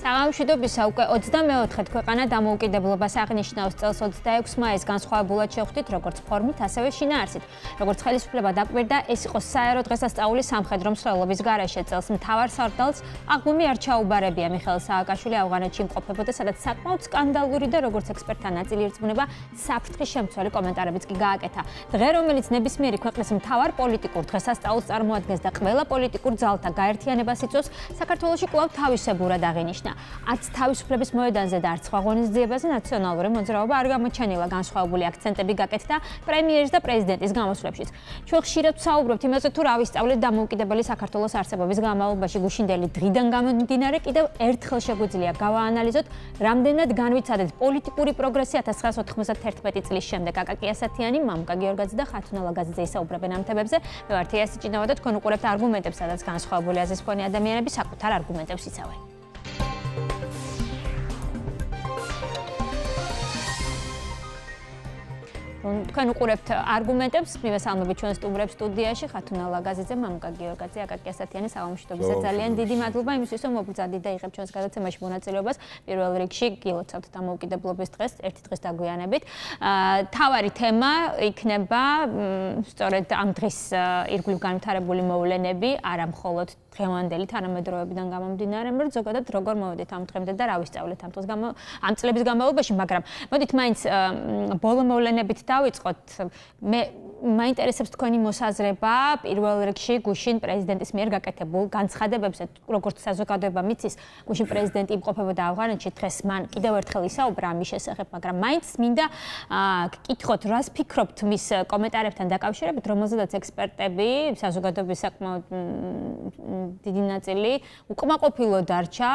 საგამშვიდობისა უკვე 24-ად ქვეყანა დამოუკიდებლობას აღნიშნავს წელს 26 მაისს განსხვავებულად შევხვდით როგორც ფორმით, ასევე შინაარსით. Როგორც ხელისუფლება დაკვირდა, ეს იყო საერო დღესასწაული სამხედრო მსვლელობის გარეშე. წელს მთავარ სარდალს აღღვიმი არ ჩაუბარებია. მიხეილ სააკაშვილი ავღანეთში იმყოფებოდა, სადაც საკმაოდ სკანდალური და როგორც ექსპერტთა ნაწილი ირწმუნება, საფრთხის შემცველი კომენტარებიც კი გააკეთა. დღე, რომელიც ნებისმიერი ქვეყნის მთავარ პოლიტიკურ დღესასწაულს წარმოადგენს და ყველა პოლიტიკურ ძალთა გაერთიანებას იწვევს, საქართველოში კვლავ თავისებურად აღინიშნა. Არც თავისუფლების მოედანზე და არც სხვა ღონისძიებაზე ნაციონალური მოძრაობა არ გამოჩენილა. განსხვავებული აქცენტები გაკეთდა პრემიერის და პრეზიდენტის გამოსვლებშიც. ჩვენ ხშირად ვსაუბრობთ იმაზე, თუ რა ვისწავლეთ დამოუკიდებელი საქართველოს არსებობის განმავლობაში გუშინდელი დღიდან გამომდინარე, კიდევ ერთხელ შეგვიძლია გავაანალიზოთ, რამდენად განვიცადეთ პოლიტიკური პროგრესი 1991 წლის შემდეგ. აკაკი ასათიანი, მამუკა გიორგაძე და ხათუნა ლაგაძე ისაუბრებენ ამ თემებზე. მე ვარ თეა სიჭინავა და თქვენ უყურებთ არგუმენტებს, სადაც განსხვავებული აზრის მქონე ადამიანები საკუთარ არგუმენტებს იცავენ. თქვენ უყურებთ არგუმენტებს, მივესალმებით ჩვენ სტუდიაში ხათუნა ლაგაძეძე, მამუკა გიორგაძე, აკაკი ასათიანი, საღამოშტობისა ძალიან დიდი მადლობა იმისთვის, რომ მოგბრძანდით და იღებთ ჩვენს გადაცემაში მონაწილეობას. პირველ რიგში გილოცავთ დამოუკიდებლობის დღეს, ერთი დღის დაგვიანებით. თავარი თემა იქნება სწორედ ამ დღის ირგვლივ განვითარებული მოვლენები, არა მხოლოდ დღევანდელი თანამედროვეობიდან გამომდინარე, მაგრამ ზოგადად როგორ მოვედით ამ დღემდე და რა ვისწავლეთ ამ წლების განმავლობაში, მაგრამ მოდით მაინც ბოლო მოვლენებით დავიწყოთ. მე მაინტერესებს თქვენი მოსაზრება პირველ რიგში გუშინ პრეზიდენტის მიერ გაკეთებულ განცხადებებზე, როგორც საზოგადოება მიცის, გუშინ პრეზიდენტი იმყოფებოდა ავღანეთში, დღეს მან კიდევ ერთხელ ისაუბრა ამის შესახებ, მაგრამ მაინც მინდა გკითხოთ, რას ფიქრობთ მის კომენტარებთან დაკავშირებით, რომელზედაც ექსპერტები, საზოგადოების საკმაოდ დიდი ნაწილი უკმაყოფილო დარჩა.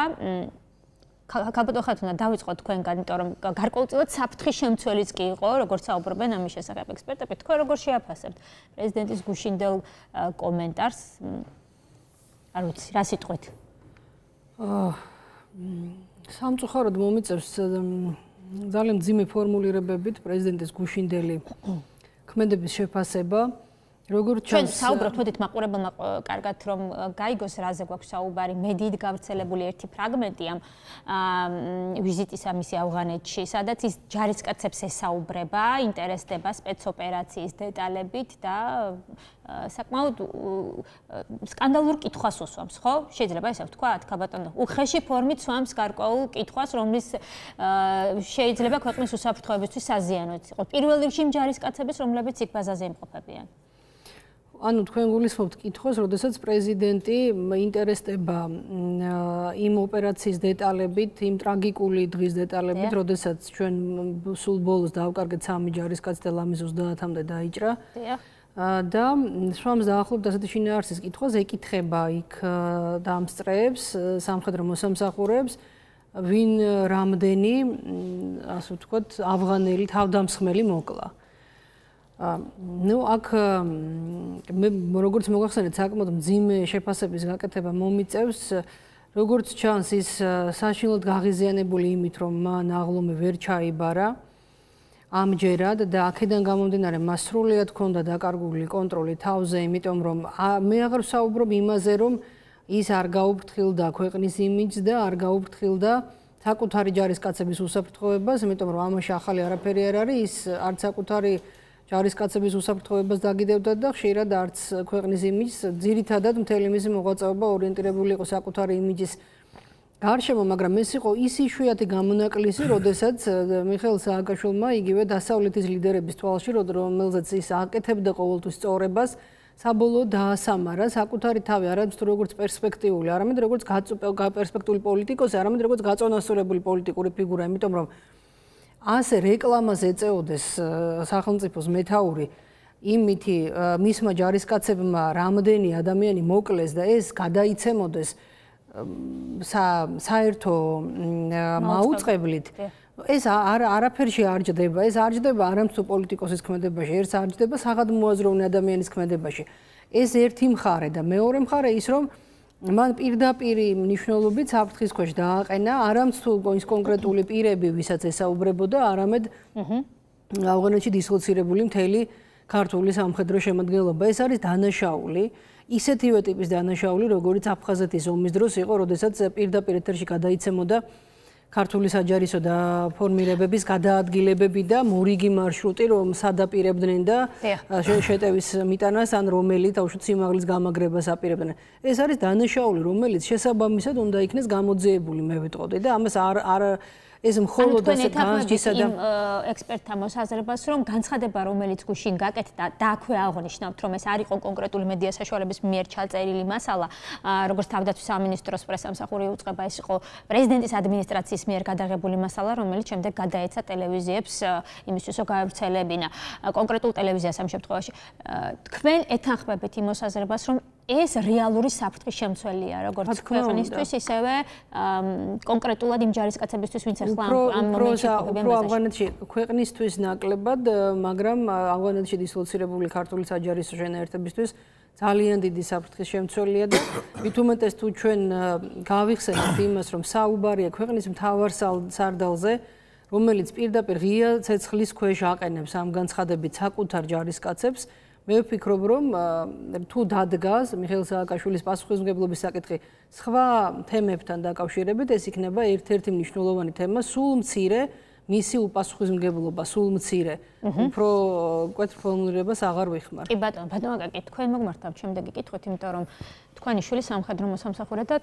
Ქალბატონ ხათუნა, დავიწყოთ თქვენგან, იმიტომ რომ გარკვეულწილად საფრთხის შემცველიც კი იყო, როგორც საუბრობენ ამის შესახებ ექსპერტები. თქვენ როგორ შეაფასებთ პრეზიდენტის გუშინდელ კომენტარს? არ ვიცი, რა სიტყვით? სამწუხაროდ მომიწევს ძალიან მძიმე ფორმულირებებით პრეზიდენტის გუშინდელი ქმედების შეფასება. როგორც ჩვენ საუბრობთ, მოდით მაყურებელმა კარგად რომ გაიგოს, რაზე გვაქვს საუბარი, მედიით გავრცელებული ერთი ფრაგმენტი ამ ვიზიტისა მისი ავღანეთში, სადაც ის ჯარისკაცებს ესაუბრება, ინტერესდება სპეცოპერაციის დეტალებით და საკმაოდ სკანდალურ კითხვას უსვამს, ხო? შეიძლება ესე ვთქვათ, ქალბატონო, უხეში ფორმით სვამს გარკვეულ კითხვას, რომლის შეიძლება ქვეყნის უსაფრთხოებისთვის საზიანოც იყოს. პირველ რიგში იმ ჯარისკაცების, რომლებიც იქ ბაზაზე იმყოფებიან. ანუ თქვენ გულისხმობთ კითხვას, როდესაც პრეზიდენტი ინტერესდება იმ ოპერაციის დეტალებით, იმ ტრაგიკული დღის დეტალებით, როდესაც ჩვენ სულ ბოლოს დავკარგეთ 3 ჯარისკაცს და ლამის 30-მდე დაიჭრა. და სვამს დაახლოებით ასეთი შინაარსის კითხვას ეკითხება იქ დამსწრეებს, სამხედრო მოსამსახურეებს, ვინ რამდენი, ასე ვთქვათ, ავღანელი თავდამსხმელი მოკლა. ნუ აქ მე როგორც მოგახსენეთ, საკმაოდ მძიმე შეფასების გაკეთება მომიწევს, როგორც ჩანს ის საშინლად გაღიზიანებული იმით, რომ მან აღლომი ვერ ჩაიბარა ამჯერად და აქედან გამომდინარე მას სრულიად ჰქონდა დაკარგული კონტროლი თავზე, იმიტომ რომ მე აღარ ვსაუბრობ იმაზე, რომ ის არ გაუფრთხილდა ქვეყნის იმიჯს და არ გაუფრთხილდა საკუთარი ჯარისკაცების უსაფრთხოებას, იმიტომ რომ ამაში ახალი არაფერი არ არის, ის არც საკუთარი ჯარისკაცების უსაფრთხოებას დაგიდევდა და ხშირად არც ქვეყნის იმიჯს, ძირითადად მთელი მისი მოღვაწეობა ორიენტირებული იყო საკუთარი იმიჯის გარშემო, მაგრამ ეს იყო ის იშვიათი გამონაკლისი, როდესაც მიხეილ სააკაშვილმა იგივე დასავლეთის ლიდერების თვალში, რომელზეც ის აკეთებდა ყოველთვის სწორებას, საბოლოოდ დაასამარა საკუთარი თავი, არამედ როგორც პერსპექტიული, არამედ როგორც პერსპექტიული პოლიტიკოსი, არამედ როგორც გაწონასწორებული პოლიტიკური ფიგურა, იმიტომ რომ ასე რეკლამას ეწეოდეს სახელმწიფოს მეთაური იმითი მისმა ჯარისკაცებმა რამდენი ადამიანი მოკლეს და ეს გადაიცემოდეს საერთო მაუწყებლით, ეს არაფერში არ ჯდება, ეს არ ჯდება არამც თუ პოლიტიკოსის ქმედებაში, ერთ არ ჯდება საღადმოაზროვნე ადამიანის ქმედებაში. ეს ერთი მხარე და მეორე მხარე ის რომ მან პირდაპირი მნიშვნელობით საფრთხის ქვეშ დააყენა არამც თუ ის კონკრეტული პირები, ვისაც ესაუბრებოდა, არამედ ავღანეთში დისლოცირებული მთელი ქართული სამხედრო შემადგენლობა. ეს არის დანაშაული. ისეთივე ტიპის დანაშაული, როგორიც აფხაზეთის ომის დროს იყო, როდესაც პირდაპირ ეთერში გადაიცემოდა ქართული საჯარისო და ფორმირებების გადაადგილებები და მორიგი მარშრუტი, რომ სადაპირებდნენ და შეტევის მიტანას ან რომელი თავშოთ სიმაღლის გამაგრებას აპირებდნენ. ეს არის დანაშაული, რომელიც შესაბამისად უნდა იქნეს გამოძიებული, მე ვიტყოდი და ამას არ ეს მხოლოდ ასე განსჯისა და ექსპერტთა მოსაზრებას, რომ განცხადება, რომელიც გუშინ გაკეთდა და აქვე აღნიშნავთ, რომ ეს არ იყო კონკრეტული მედია საშუალების მიერ ჩაწერილი მასალა, როგორც თავდაცვის სამინისტროს პრესამსახური უწყება, ეს იყო პრეზიდენტის ადმინისტრაციის მიერ გადაღებული მასალა, რომელიც შემდეგ გადაეცა ტელევიზიებს იმისთვის, რომ გაავრცელებინა კონკრეტულ ტელევიზიას ამ შემთხვევაში. თქვენ ეთანხმებით იმ მოსაზრებას, რომ ეს რეალური საფრთხის შემცველია, როგორც ქვეყნისთვის, ისევე კონკრეტულად იმ ჯარისკაცებისთვის, ვინც ახლა ამ მომენტში ყოფილიან ბაზაში. ავღანეთში ქვეყნისთვის ნაკლებად, მაგრამ ავღანეთში დისლოცირებული ქართული საჯარისო შენაერთებისთვის ძალიან დიდი საფრთხის შემცველია და მით უმეტეს თუ ჩვენ გავიხსენებთ იმას, რომ საუბარია ქვეყნის მთავარ სარდალზე, რომელიც პირდაპირ ღია ცეცხლის ქვეშ აყენებს ამ განცხადებით საკუთარ ჯარისკაცებს, მე ვფიქრობ, რომ თუ დადგას მიხეილ სააკაშვილის პასუხისმგებლობის საკითხი სხვა თემებთან დაკავშირებით, ეს იქნება ერთ-ერთი მნიშვნელოვანი თემა, სულ მცირე მისი უპასუხისმგებლობა, სულ მცირე. უფრო მკვეთრ ფორმულირებას აღარ ვიხმარ. კი ბატონო, აკაკი, თქვენ მოგმართავთ შემდეგი კითხვით, იმიტომ რომ თქვენი შვილი სამხედრო მოსამსახურე და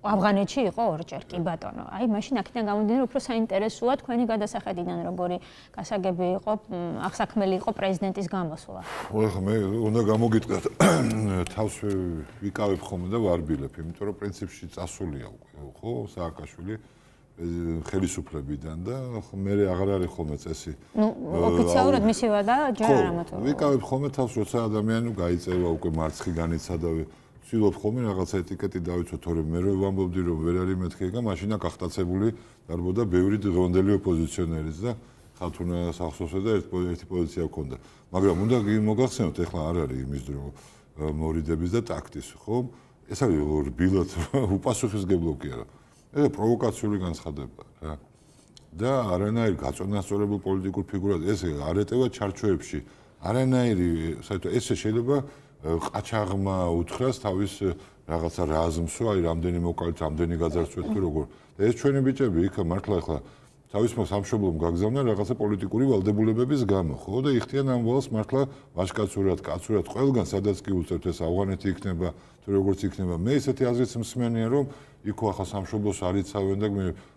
ავღანეთში იყო ორჯერ, კი ბატონო. აი, მაშინ აქედან გამომდინარე, უფრო საინტერესოა თქვენი გადასახედიდან, როგორი გასაგები იყო, აღსაქმელი იყო პრეზიდენტის გამოსვლა. ხო, მე უნდა გამოგიტყდათ, თავს ვიკავებ ხოლმე და ვარბილებ, იმიტომ რომ პრინციპში წასულია უკვე, ხო, სააკაშვილი ხელისუფლებიდან და მე აღარ არის ხოლმე წესი. ოფიციალურად მისი ვადა ჯერ არ ამათო. ვიკავებ ხოლმე თავს, როცა ადამიანი გაიწევა უკვე მარცხი განიცადა, ვცდილობ ხოლმე რაღაცა ეტიკეტი დავიცვა, თორემ მე რო ვამბობდი, რომ ვერ არის მეთქე და მაშინა გახტაცებული დარბოდა ბევრი დღევანდელი ოპოზიციონერიც და ხალთუნა სახსოვსა და ერთი პოზიცია ჰქონდა. მაგრამ უნდა მოგახსენოთ, ეხლა არ არის იმის დრო მორიდების და ტაქტის, ხო? ეს არის რბილად უპასუხისმგებლო კი არა. ეს პროვოკაციული განცხადება რა. და არანაირი გაწონასწორებულ პოლიტიკურ ფიგურად ეს არ ეტევა ჩარჩოებში. არანაირი, საერთოდ ესე შეიძლება ყაჩაღმა უთხრას თავის რაღაცა რაზმსო, აი რამდენი მოკალით, რამდენი გაძარცვეთ თუ როგორ. და ეს ჩვენი ბიჭები იქ მართლა ახლა თავის სამშობლომ გაგზავნა რაღაცა პოლიტიკური ვალდებულებების გამო, ხო? და იხდიან ამ ვალს მართლა ვაჟკაცურად, კაცურად, ყველგან სადაც კი უწევთ ეს ავღანეთი იქნება, თუ როგორც იქნება. მე ესეთი აზრიც მსმენია, რომ იქო ახლა სამშობლოს არ იცავენ და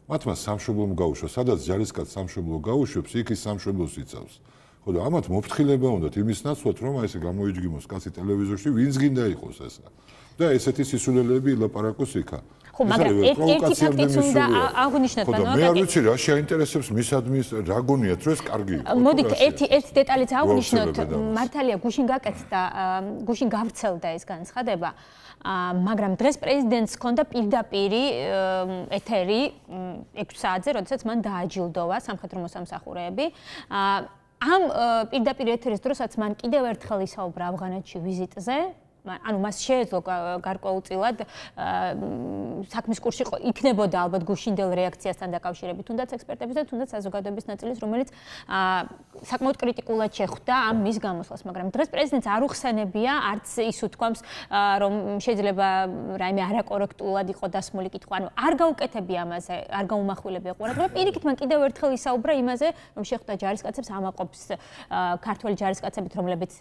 მათმა სამშობლომ გაუშვა, სადაც ჯარისკაც სამშობლო გაუშვებს, იქ ის სამშობლოს იცავს. ხო და ამათ მოფრთხილება უნდათ იმის ნაცვლად, რომ აი ესე გამოიჯგიმოს კაცი ტელევიზორში, ვინც გინდა იყოს ესა. და ესეთი სისულელეები ილაპარაკოს იქა. ხო, მაგრამ ერთი ფაქტიც უნდა აღნიშნოთ, ბანო. მე არ ვიცი რა შეაინტერესებს მისადმი რა გონიათ, რომ ეს კარგი იყო. მოდით ერთი დეტალიც აღნიშნოთ, მართალია გუშინ გაკეთდა, გუშინ გავრცელდა ეს განცხადება. მაგრამ დღეს პრეზიდენტს ჰქონდა პირდაპირი ეთერი 6 საათზე, როდესაც მან დააჯილდოვა სამხედრო მოსამსახურეები. ამ პირდაპირ ეთერის დროსაც მან კიდევ ერთხელ ისაუბრა ავღანეთში ვიზიტზე. ანუ მას შეეძლო გარკვეულწილად საქმის კურსი იქნებოდა ალბათ გუშინდელ რეაქციასთან დაკავშირებით, თუნდაც ექსპერტების და თუნდაც საზოგადოების ნაწილის, რომელიც საკმაოდ კრიტიკულად შეხვდა ამ მის გამოსვლას, მაგრამ დღეს პრეზიდენტს არ უხსენებია, არც ის უთქვამს, რომ შეიძლება რაიმე არაკორექტულად იყო დასმული კითხვა, ანუ არ გაუკეთებია ამაზე, არ გაუმახვილებია ყურადღება, პირიქით მან კიდევ ერთხელ ისაუბრა იმაზე, რომ შეხვდა ჯარისკაცებს, ამაყობს ქართველი ჯარისკაცებით, რომლებიც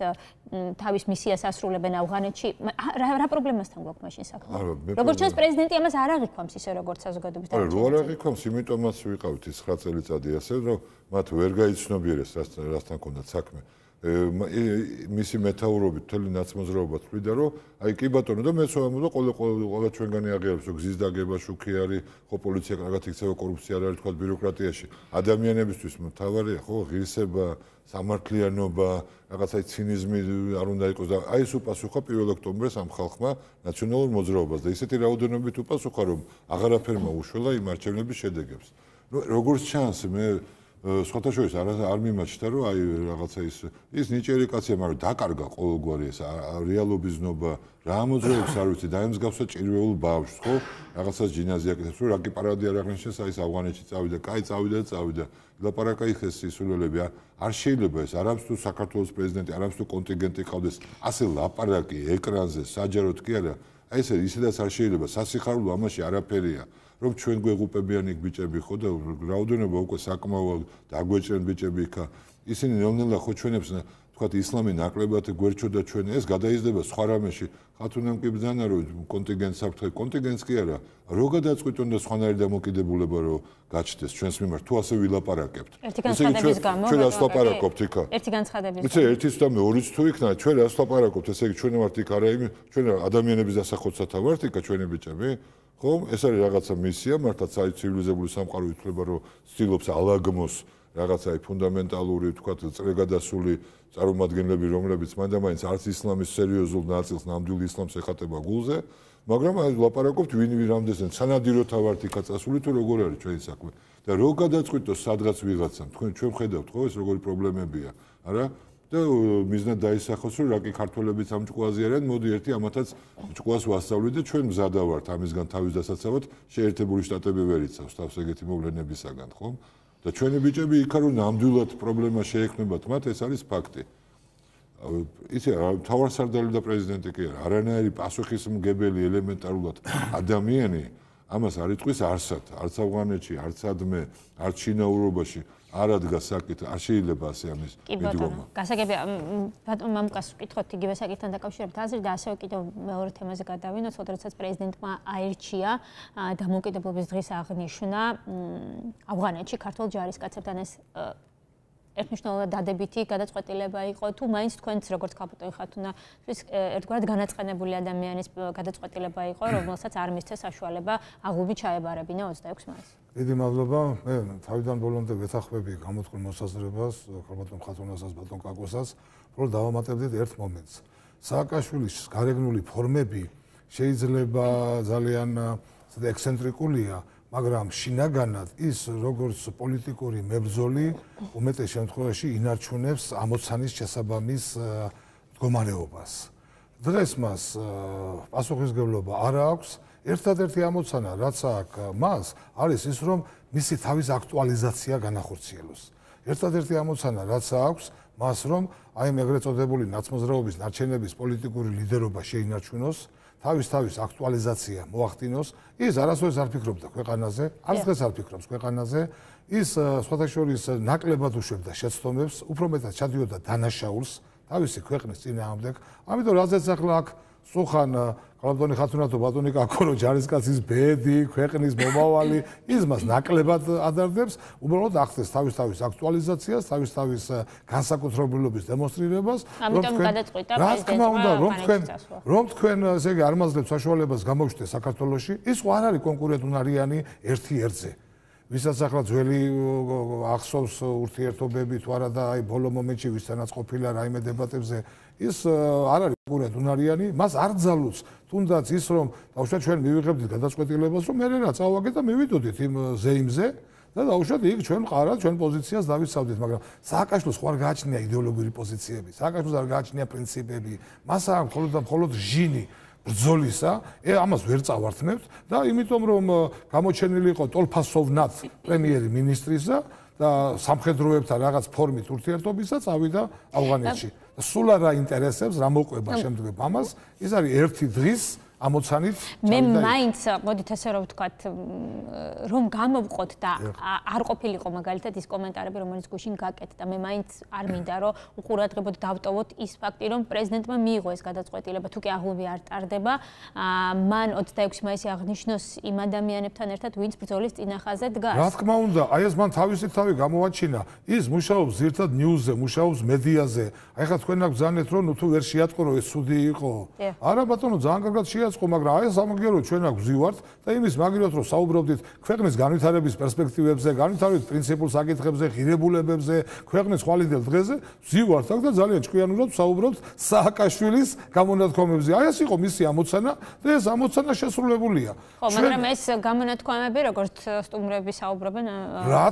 თავის მისიას ასრულებენ ავღანეთში. რა პრობლემასთან გვაქვს მაშინ საქმე? როგორც ჩანს პრეზიდენტი ამას არ აღიქვამს ისე როგორც საზოგადოების დარჩენა. არა, არ აღიქვამს, იმიტომაც ვიყავით ის 9 წელიწადი ასე, რომ მათ ვერ გაიცნობიერეს რასთან ჰქონდათ საქმე. მისი მეთაურობით მთელი ნაცმოძრაობა თვლიდა, რომ აი კი ბატონო და მეც ვამბობ, ყველა ჩვენგანი აღიარებს, რომ გზის დაგება შუქი არის, ხო პოლიცია კარგად იქცევა, კორუფცია არ არის თქვა ბიუროკრატიაში. ადამიანებისთვის მთავარია ხო ღირსება, სამართლიანობა, რაღაცა ცინიზმი არ უნდა იყოს და აი ეს უპასუხა 1 ოქტომბერს ამ ხალხმა ნაციონალურ მოძრაობას და ისეთი რაოდენობით უპასუხა, რომ აღარაფერმა უშველა იმ არჩევნების შედეგებს. როგორც ჩანს, მე სხვათა შორის არ მიმაჩნდა რომ აი რაღაცა ის ნიჭიერი კაცია, მაგრამ დაკარგა ყოველგვარი ეს რეალობის ნობა, რა მოძრაობს არ ვიცი, დაემსგავსა ჭირვეულ ბავშვს, ხო? რაღაცას ჯინაზი აკეთებს, რომ რაკი პარადი არ აღნიშნეს, აი ავღანეთში წავიდა, კაი წავიდა. ლაპარაკა იქეს სისულელები, არ შეიძლება ეს, არამც თუ საქართველოს პრეზიდენტი, არამც თუ კონტინგენტი ყავდეს, ასე ლაპარაკი ეკრანზე, საჯაროდ კი არა, აი ესე ისედაც არ შეიძლება, სასიხარულო ამაში არაფერია. რომ ჩვენ გვეღუპებიან იქ ბიჭები ხო და რაოდენობა უკვე საკმაოდ დაგვეჭრენ ბიჭები იქა ისინი ნელ-ნელა ხო ჩვენებს თქვათ ისლამი ნაკლებად გვერჩოდა ჩვენ ეს გადაიზრდება სხვა რამეში ხათუნამ კი ბრძანა რომ კონტინგენტს აქვს კონტინგენტს კი არა რო გადაწყვიტონ და სხვანაირი დამოკიდებულება რომ გაჩნდეს ჩვენს მიმართ თუ ასე ვილაპარაკებთ ერთი განცხადების გამო ჩვენ რას ლაპარაკობთ იქა ერთი განცხადების გამო ერთის და მეორიც თუ იქნა ჩვენ რას ლაპარაკობთ ესე იგი ჩვენ ვართ იქ არა იმ ჩვენ ადამიანების დასახოცათა ვართ იქა ჩვენი ბიჭები ხომ ეს არის რაღაცა მისია მართლაც აი ცივილიზებული სამყარო ითვლება რომ ცდილობს ალაგმოს რაღაცა ფუნდამენტალური თქვათ წრეგადასული წარმომადგენლები რომლებიც მანდ-ამაინც არც ისლამის სერიოზულ ნაწილს ნამდვილ ისლამს ეხატება გულზე მაგრამ აი ლაპარაკობთ ვინ რამდენზე სანადიროთა ვართ იქა წასული თუ როგორ არის ჩვენი საქმე და რო გადაწყვიტოს სადღაც ვიღაცამ ჩვენ ხედავთ ხო ეს როგორი პრობლემებია არა და მიზნად დაისახოს რომ რაკი ქართველებიც ამ ჭკუაზე არიან მოდი ერთი ამათაც ჭკუას ვასწავლით და ჩვენ მზადა ვართ ამისგან თავის დასაცავად შეერთებული შტატები ვერ იცავს თავს ეგეთი მოვლენებისაგან ხომ და ჩვენი ბიჭები იქა რომ ნამდვილად პრობლემა შეექმნებათ მათ ეს არის ფაქტი იცი მთავარსარდალი და პრეზიდენტი კი არა არანაირი პასუხისმგებელი ელემენტარულად ადამიანი ამას არ იტყვის არსად არც ავღანეთში არც ადმე არც ჩინაურობაში არ ადგას საკითხი, არ შეიძლება ასე ამის მიდგომა. გასაგებია, ბატონ მამუკას ვკითხოთ იგივე საკითხთან დაკავშირებით აზრი და ასევე კიდევ მეორე თემაზე გადავინოთ, როდესაც პრეზიდენტმა აირჩია დამოუკიდებლობის დღის აღნიშვნა ავღანეთში ქართულ ჯარისკაცებთან ეს ერთმნიშვნელოვნად დადებითი გადაწყვეტილება იყო თუ მაინც თქვენც როგორც კაპიტანი ხათუნათვის ერთგვარად განაწყენებული ადამიანის გადაწყვეტილება იყო რომელსაც არ მისცეს საშუალება აღლუმი ჩაებარებინა 26 მაისს დიდი მადლობა მე თავიდან ბოლომდე ვეთანხმები გამოთქმულ მოსაზრებას კაპიტან ხათუნასაც ბატონ კაკოსაც რომ დავამატებდით ერთ მომენტს სააკაშვილის გარეგნული ფორმები შეიძლება ძალიან ექსცენტრიკულია მაგრამ შინაგანად ის როგორც პოლიტიკური მებრძოლი უმეტეს შემთხვევაში ინარჩუნებს ამოცანის შესაბამის მდგომარეობას. დღეს მას პასუხისმგებლობა არ აქვს. ერთადერთი ამოცანა რაც აქვს მას არის ის რომ მისი თავის აქტუალიზაცია განახორციელოს. ერთადერთი ამოცანა რაც აქვს მას რომ აი ეგრეთ წოდებული ნაცმოძრაობის ნარჩენების პოლიტიკური ლიდერობა შეინარჩუნოს. თავის აქტუალიზაცია მოახდინოს ის არასოდეს არ ფიქრობდა ქვეყანაზე არც დღეს არ ფიქრობს ქვეყანაზე ის სხვათა შორის ნაკლებად უშვებდა შეცდომებს უფრო მეტად ჩადიოდა დანაშაულს თავისი ქვეყნის წინააღმდეგ ამიტომ რაზეც ახლა აქ სუხან კაპიტანი ხათუნათო ბატონი კაკო ჯარისკაცის ბედი ქვეყნის მომავალი ის მას ნაკლებად ადარდებს უბრალოდ ახდენს თავის აქტუალიზაციას თავის განსაკუთრებულობის დემონსტრირებას ამიტომ გადაწყვიტა პრეზიდენტმა რომ თქვენ ესე იგი არ მაძლევთ საშუალებას გამოჩნდეს საქართველოში ის ხო არ არის კონკურენტუნარიანი ერთი ერთზე ვისაც ახლა ძველი ახსოვს ურთიერთობები თუ არა და აი ბოლო მომენტში ვისთანაც ყოფილა რაიმე დებატებზე ის არ არის კონკურენტუნარიანი მას არ ძალუց თუნდაც ის რომ დაუშვათ ჩვენ მივიღებდით გადაწყვეტილებას რომ მე რა წავაგეთ და მივიდოდით იმ ზეიმზე და დაუშვათ იქ ჩვენ ყარად ჩვენ პოზიციას დავიცავდით მაგრამ სააკაშვილს ხო არ გააჩნია იდეოლოგიური პოზიციები სააკაშვილს არ გააჩნია პრინციპები მას აქვს მხოლოდ ჟინი ბრძოლისა, ამას ვერ წავართმევთ და იმიტომ რომ გამოჩენილი იყო ტოლფასოვნად პრემიერი მინისტრისა და სამხედროებთან რაღაც ფორმით ურთიერთობისა წავიდა ავღანეთში. სულ არ აინტერესებს რა მოყვება შემდგომ ამას, ის არის ერთი დღის ამოცანით მე მაინც მოდით ესე რომ ვთქვათ რომ გამოვყოთ და არ ყოფილიყო მაგალითად ის კომენტარები რომელიც გუშინ გაკეთდა მე მაინც არ მინდა რომ უყურადღებოდ დავტოვოთ ის ფაქტი რომ პრეზიდენტმა მიიღო ეს გადაწყვეტილება თუ კი აღლუმი არ ტარდება მან 26 მაისი აღნიშნოს იმ ადამიანებთან ერთად ვინც ბრძოლის წინახაზე დგას რა თქმა უნდა აი ეს მან თავისი თავი გამოაჩინა ის მუშაობს ზირთად ნიუზზე მუშაობს მედიაზე აი ხა თქვენ აქ ბრძანეთ რომ თუ ვერ შეატყო რომ ეს ცუდი იყო არა ბატონო ძალიან კარგად შეატყო ეს ხო, მაგრამ აი სამაგიეროდ ჩვენ აქ ვზივართ და იმის მაგალითად რომ საუბრობდით ქვეყნის განვითარების პერსპექტივებზე, განვითარების პრინციპულ საკითხებზე, ღირებულებებზე, ქვეყნის ხვალინდელ დღეზე ვზივართ აქ და ძალიან ჭკვიანურად ვსაუბრობთ სააკაშვილის გამონათქვამებზე. აი ეს იყო მისი ამოცანა და ეს ამოცანა შესრულებულია. ხო, მაგრამ ეს გამონათქვამები როგორც სტუმრები საუბრობენ, რა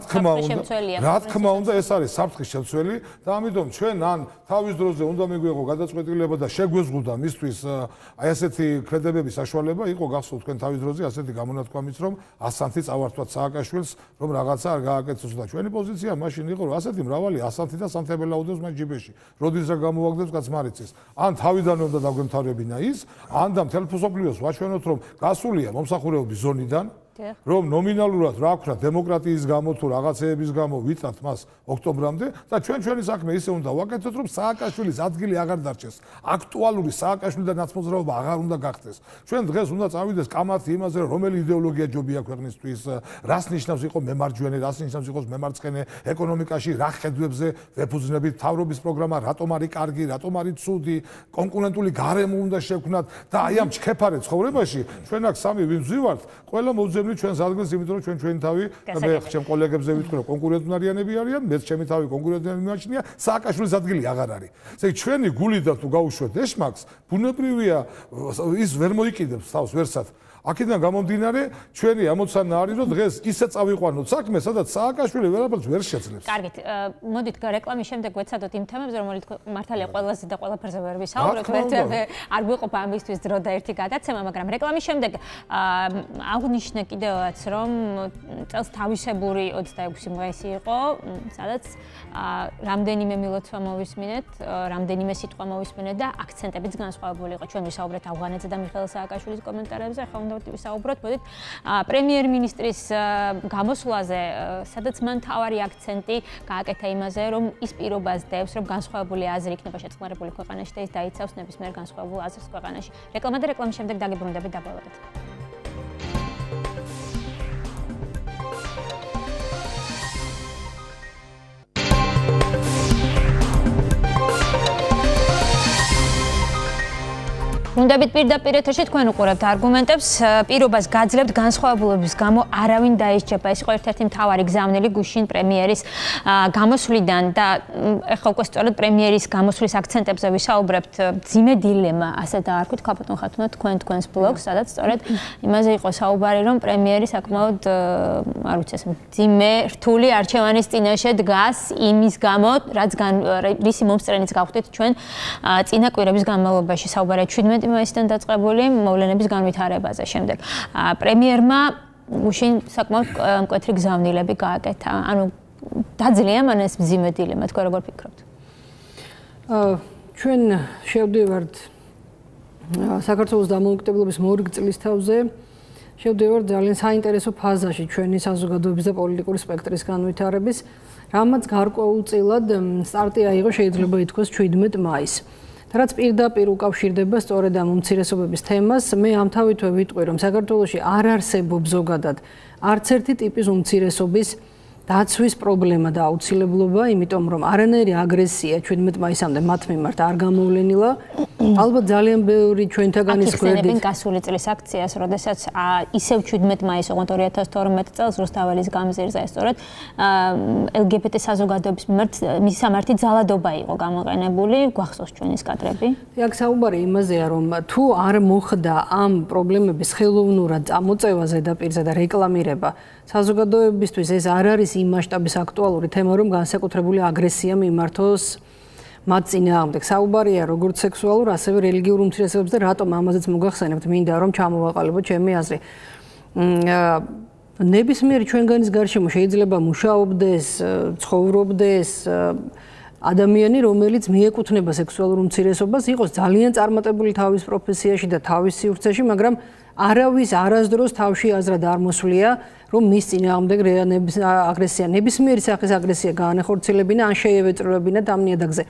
თქმა უნდა, ეს არის საფრთხის შემცველი და ამიტომ ჩვენ ან თავის დროზე უნდა მიგვიღო გადაწყვეტილება და შეგვეზღუდა მისთვის აი ასეთი ქმედებების საშუალება იყო გახსოვთ თქვენ თავის დროზე ასეთი გამონათქვამიც რომ ასანთი წავართვათ სააკაშვილს რომ რაღაცა არ გააკეთოს და ჩვენი პოზიცია მაშინ იყო რომ ასეთი მრავალი ასანთი და სანთებელაუდეს მას ჯიბეში როდის რა გამოაგდებს კაც მარიცის ან თავიდანვე უნდა დაგვემთავრებინა ის ან და მთელ მსოფლიოს ვაჩვენოთ რომ გასულია მომსახურებების ზონიდან რომ ნომინალურად რა ვქნა დემოკრატიის გამო თუ რაღაცეების გამო ვიწათ მას ოქტომბრამდე და ჩვენი საქმე ისე უნდა ვაკეთოთ რომ სააკაშვილის ადგილი აღარ დარჩეს აქტუალური სააკაშვილიდან ნაცმოძრაობა აღარ უნდა გახდეს ჩვენ დღეს უნდა წავიდეს კამათი იმაზე რომელი იდეოლოგია ჯობია ქვეყნისთვის რას ნიშნავს იყო მემარჯვენე რას ნიშნავს იყოს მემარცხენე ეკონომიკაში რა ხედვებზე ვეფუძნებით თავრობის პროგრამა რატომ არის კარგი რატომ არის ცუდი კონკურენტული გარემო უნდა შევქმნათ და აი ამ ჩქეფარე ცხოვრებაში ჩვენ აქ სამი ვინ ვზივართ ყველა მოძებნით ჩვენს ადგილს, იმიტომ რომ ჩვენ ჩვენი თავი და მე ჩემ კოლეგებზე ვიტყვი რომ კონკურენტუნარიანები არიან, მეც ჩემი თავი კონკურენტუნარიანი მიმაჩნია, სააკაშვილის ადგილი აღარ არის. ესე იგი ჩვენი გული და თუ გაუშვათ ეშმაკს, ბუნებრივია ის ვერ მოიკიდებს თავს ვერსად. აქედან გამომდინარე, ჩვენი ამოცანა არის რომ დღეს ისე წავიყვანოთ საქმე, სადაც სააკაშვილი ვერაფერს ვერ შეძლებს. კარგით, მოდით რეკლამის შემდეგ ვეცადოთ იმ თემებზე, რომელიც მართალია ყველაზე და ყველაფერზე ვერ ვისაუბროთ, ვერცერთი არ გვიყოფა ამისთვის დრო და ერთი გადაცემა, მაგრამ რეკლამის შემდეგ აღნიშნე კიდევაც, რომ წელს თავისებური 26 მაისი იყო, სადაც რამდენიმე მილოცვა მოვისმინეთ, რამდენიმე სიტყვა მოვისმინეთ და აქცენტებიც განსხვავებული იყო. ჩვენ ვისაუბრეთ ავღანეთზე და მიხეილ სააკაშვილის კომენტარებზე, ახლა ვისაუბროთ, მოდით პრემიერ-მინისტრის გამოსვლაზე, სადაც მან თავარი აქცენტი გააკეთა იმაზე, რომ ის პირობას დევს, რომ განსხვავებული აზრი იქნება შეწყნარებული ქვეყანაში და ის დაიცავს ნებისმიერ განსხვავებულ აზრს ქვეყანაში. რეკლამა და რეკლამის შემდეგ დაგიბრუნდებით დაბოლოებით. უნდებით პირდაპირ ეთერში თქვენ უყურებთ არგუმენტებს, პირობას გაძლევთ განსხვავებულობის გამო არავინ დაისჯება. ეს იყო ერთ-ერთი მთავარი გზავნილი გუშინ პრემიერის გამოსვლიდან და ეხლა უკვე სწორედ პრემიერის გამოსვლის აქცენტებზე ვისაუბრებთ. ძიმე დილემა, ასე დაარქვით, ქალბატონ ხათუნა თქვენს ბლოგს, სადაც სწორედ იმაზე იყო საუბარი, რომ პრემიერი საკმაოდ არ ვიცი ეს ძიმე რთული არჩევანის წინაშე დგას იმის გამო, რისი მომსწრენიც გავხდით ჩვენ წინა კვირების განმავლობაში საუბარია 17 მაისიდან დაწყებული მოვლენების განვითარებაზე. შემდეგ პრემიერმა გუშინ საკმაოდ მკვეთრი გზავნილები გააკეთა. ანუ დაძლია მან ეს მძიმე დილემა, თქვენ როგორ ფიქრობთ? ჩვენ შევდივართ საქართველოს დამოუკიდებლობის მორიგ წლისთავზე. შევდივართ ძალიან საინტერესო ფაზაში ჩვენი საზოგადოების და პოლიტიკური სპექტრის განვითარების, რამაც გარკვეულწილად სტარტი აიღო შეიძლება ითქვას 17 მაისს. რაც პირდაპირ უკავშირდება სწორედ ამ უმცირესობების თემას, მე ამთავითვე ვიტყვი, რომ საქართველოში არ არსებობს ზოგადად არც ერთი ტიპის უმცირესობის დაცვის პრობლემა და აუცილებლობა, იმიტომ რომ არანაირი აგრესია 17 მაისამდე მათ მიმართ არ გამოვლენილა. ალბათ ძალიან ბევრი ჩვენთაგანის გვერდით ახსენებენ გასული წლის აქციას, როდესაც ისევ 17 მაისს, ოღონდ 2012 წელს რუსთაველის გამზირზე სწორედ LGBT საზოგადოების მიმართ მისამართი ძალადობა იყო გამოყენებული, გვახსოვს ჩვენის კადრები. აქ საუბარი იმაზეა, რომ თუ არ მოხდა ამ პრობლემების ხელოვნურად წამოწევა ზედაპირზე და რეკლამირება, საზოგადოებისთვის ეს არ არის იმ მასშტაბის აქტუალური თემა, რომ განსაკუთრებული აგრესია მიმართოს მათ წინააღმდეგ. საუბარია როგორც სექსუალურ, ასევე რელიგიურ უმცირესობებზე და რატომ ამაზეც მოგახსენებთ, მინდა რომ ჩამოვაყალიბოთ ჩემი აზრი. ნებისმიერი ჩვენგანის გარშემო შეიძლება მუშაობდეს, ცხოვრობდეს ადამიანი, რომელიც მიეკუთვნება სექსუალურ უმცირესობას, იყოს ძალიან წარმატებული თავის პროფესიაში და თავის სივრცეში, მაგრამ არავის არასდროს თავში აზრად არ მოსვლია, რომ მის წინააღმდეგ აგრესია, ნებისმიერი სახის აგრესია გაანახორციელებინა, ან შეევეწროებინა ამ ნიადაგზე.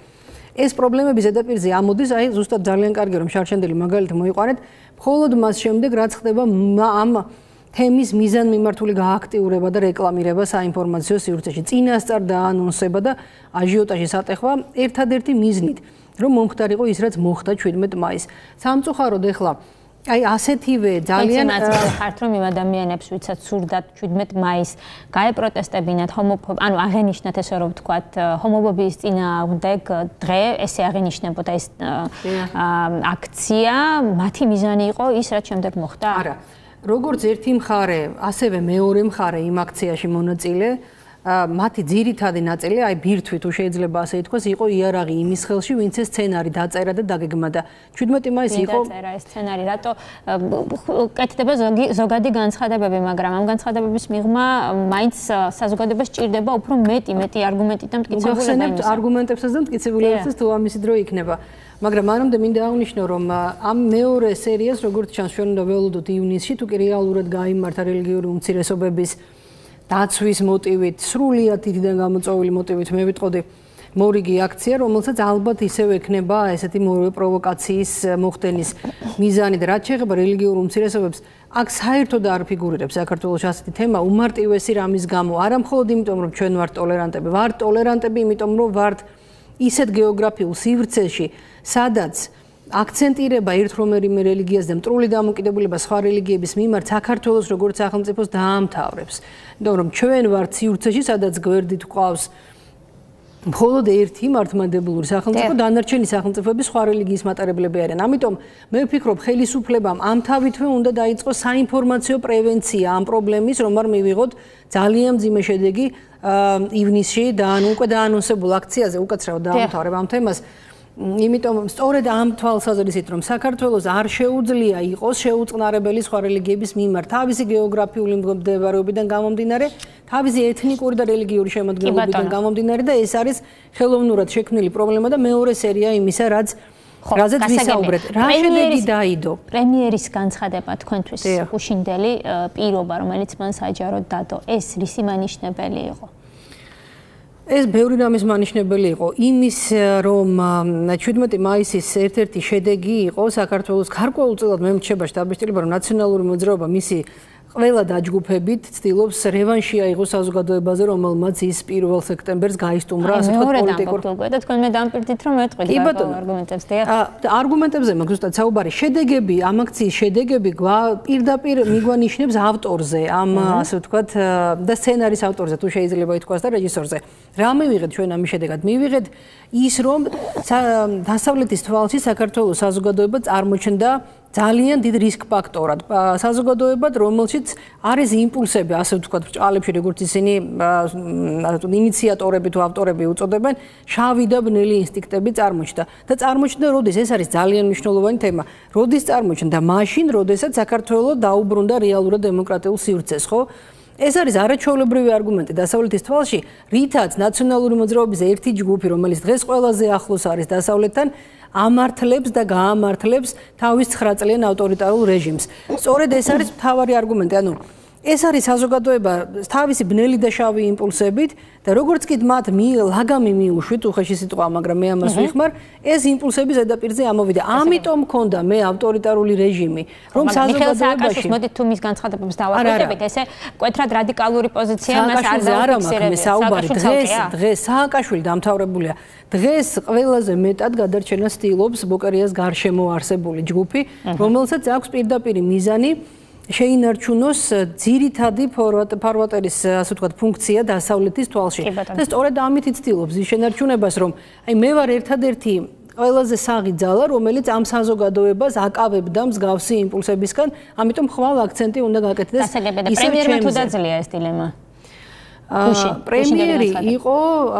ეს პრობლემები ზედაპირზე ამოდის, აი ზუსტად ძალიან კარგი რომ შარშანდელი მაგალითი მოიყვანეთ, მხოლოდ მას შემდეგ რაც ხდება ამ თემის მიზანმიმართული გააქტიურება და რეკლამირება საინფორმაციო სივრცეში, წინასწარ დაანონსება და აჟიოტაჟის ატეხვა ერთადერთი მიზნით, რომ მომხდარიყო ის რაც მოხდა 17 მაისს. სამწუხაროდ ეხლა აი ასეთივე ძალიან ხართ რომ იმ ადამიანებს ვიცაც სურდათ 17 მაისს გაეპროტესტებინათ ანუ აღენიშნათ ესე რომ ვთქვათ ჰომოფობიის წინააღმდეგ დღე ესე აღენიშნებოდა ეს აქცია მათი მიზანი იყო ის რაც შემდეგ მოხდა? არა როგორც ერთი მხარე ასევე მეორე მხარე იმ აქციაში მონაწილე მათი ძირითადი ნაწილი, აი ბირთვი თუ შეიძლება ასე ითქვას, იყო იარაღი იმის ხელში, ვინც ეს სცენარი დაწერა და დაგეგმდა. 17 მაისი იყო დაწერა ეს სცენარი, რატო კეთდება ზოგადი განცხადებები, მაგრამ ამ განცხადებების მიღმა მაინც საზოგადოებას სჭირდება უფრო მეტი არგუმენტი და მტკიცებულება იმისა. არგუმენტებსაც და მტკიცებულებებსაც თუ ამისი დრო იქნება. მაგრამ მანამდე მინდა აღვნიშნო, რომ ამ მეორე სერიას, როგორც ჩანს, ჩვენ უნდა ველოდოთ ივნისში, თუ კი რეალურად გაიმართა რელიგიური უმცირესობების დაცვის მოტივით, სრულიად თითიდან გამოწვეული მოტივით მე ვიტყოდი მორიგი აქცია, რომელსაც ალბათ ისევ ექნება ესეთი პროვოკაციის მოხდენის მიზანი და რაც შეეხება რელიგიურ უმცირესობებს, აქ საერთოდ არ ფიგურირებს საქართველოს ასეთი თემა უმარტივესი რამის გამო, არა მხოლოდ იმიტომ, რომ ჩვენ ვართ ტოლერანტები, იმიტომ რომ ვართ ისეთ გეოგრაფიულ სივრცეში, სადაც აქცენტირება ერთ რომელიმე რელიგიას და მტრული დამოკიდებულება სხვა რელიგიების მიმართ საქართველოს როგორც სახელმწიფოს დაამთავრებს. იმიტომ რომ ჩვენ ვართ სივრცეში, სადაც გვერდით გვყავს მხოლოდ ერთი მართლმადიდებლური სახელმწიფო, დანარჩენი სახელმწიფოები სხვა რელიგიის მატარებლები არიან. ამიტომ მე ვფიქრობ, ხელისუფლებამ ამ თავითვე უნდა დაიწყოს საინფორმაციო პრევენცია ამ პრობლემის, რომ არ მივიღოთ ძალიან მძიმე შედეგი ივნისში და უკვე დაანონსებულ აქციაზე უკაცრავად დაამთავრებ ამ თემას. იმიტომ სწორედ ამ თვალსაზრისით რომ საქართველოს არ შეუძლია იყოს შეუწყნარებელი სხვა რელიგიების მიმართ თავისი გეოგრაფიული მდებარეობიდან გამომდინარე, თავისი ეთნიკური და რელიგიური შემადგენლობიდან გამომდინარე და ეს არის ხელოვნურად შექმნილი პრობლემა და მეორე სერია იმისა, რაზეც ვისაუბრეთ. რა შედეგი დაიდო? პრემიერის განცხადება თქვენთვის უშინდელი პირობა, რომელიც მან საჯაროდ დადო, ეს რისი მანიშნებელი იყო? ეს ბევრი რამის მანიშნებელი იყო. იმის რომ 17 მაისის ერთ-ერთი შედეგი იყო საქართველოს გარკვეულწილად მე მრჩება შტაბ-ბიჭდილება, რომ ნაციონალური მოძრაობა მისი ყველა დაჯგუფებით ცდილობს რევანში აიღოს საზოგადოებაზე, რომელმაც ის 1 სექტემბერს გაისტუმრა ასე თქვა პოლიტიკურ და თქვენ მე დამპირდით რომ ეტყვით არგუმენტებს და არგუმენტებზე მაგ ზუსტად საუბარი შედეგები ამ აქციის შედეგები პირდაპირ მიგვანიშნებს ავტორზე ამ ასე ვთქვათ და სცენარის ავტორზე თუ შეიძლება ითქვას და რეჟისორზე რა მივიღეთ ჩვენ ამის შედეგად მივიღეთ ის რომ დასავლეთის თვალში საქართველოს საზოგადოება წარმოჩნდა ძალიან დიდ რისკ ფაქტორად საზოგადოებად, რომელშიც არის იმპულსები, ასე ვთქვათ, ბრჭყალებში, როგორც ისინი ინიციატორები თუ ავტორები უწოდებენ, შავი და ბნელი ინსტინქტები წარმოჩნდა. და წარმოჩნდა, როდის ეს არის ძალიან მნიშვნელოვანი თემა. როდის წარმოჩნდა? მაშინ, როდესაც საქართველოს დაუბრუნდა რეალურად დემოკრატიულ სივრცეს, ხო? ეს არის არაჩვეულებრივი არგუმენტი დასავლეთის თვალში, რითაც ნაციონალური მოძრაობის ერთი ჯგუფი, რომელიც დღეს ყველაზე ახლოს არის დასავლეთთან, ამართლებს და გაამართლებს თავის 9 წლიან ავტორიტარულ რეჟიმს. სწორედ ეს არის მთავარი არგუმენტი. ანუ ეს არის საზოგადოება თავისი ბნელი და შავი იმპულსებით და როგორც კი მათ ლაგამი მიუშვით, უხეში სიტყვა, მაგრამ მე ამას ვიხმარ, ეს იმპულსები ზედაპირზე ამოვიდა. ამიტომ მქონდა მე ავტორიტარული რეჟიმი, რომ საზოგადოებაში მოდით თუ მის განცხადებებს დავაკვირდებით, ესე მკვეთრად რადიკალური პოზიცია მას არ დაუფიქსირებს. დღეს სააკაშვილი დამთავრებულია. დღეს ყველაზე მეტად გადარჩენას ცდილობს ბოკერიას გარშემო არსებული ჯგუფი, რომელსაც აქვს პირდაპირ მიზანი შეინარჩუნოს ძირითადი ფარვატერის ასე ვთქვათ ფუნქცია დასავლეთის თვალში. და სწორედ ამით იცდილობს ის შენარჩუნებას, რომ აი მე ვარ ერთადერთი ყველაზე საღი ძალა, რომელიც ამ საზოგადოებას აკავებდა მსგავსი იმპულსებისგან, ამიტომ ხვალ აქცენტი უნდა გაკეთდეს ისევ პრემიერმა თუ დაძლია ეს დილემა. პრემიერი იყო,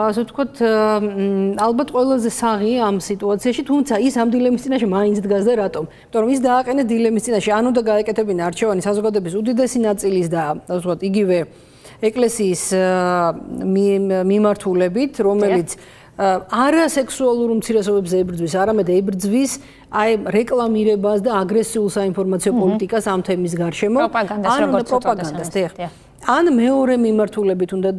ასე ვთქვათ, ალბათ ყველაზე საღი ამ სიტუაციაში, თუმცა ის ამ დილემის წინაშე მაინც დგას და რატომ? იმიტომ რომ ის დააყენეს დილემის წინაშე, ანუ და გაეკეთებინა არჩევანი საზოგადოების უდიდესი ნაწილის და ასე ვთქვათ, იგივე ეკლესიის მიმართულებით, რომელიც არასექსუალურ უმცირესობებს ებრძვის, არამედ ებრძვის აი რეკლამირებას და აგრესიულ საინფორმაციო პოლიტიკას ამ თემის გარშემო, პროპაგანდას, ან მეორე მიმართულებით უნდა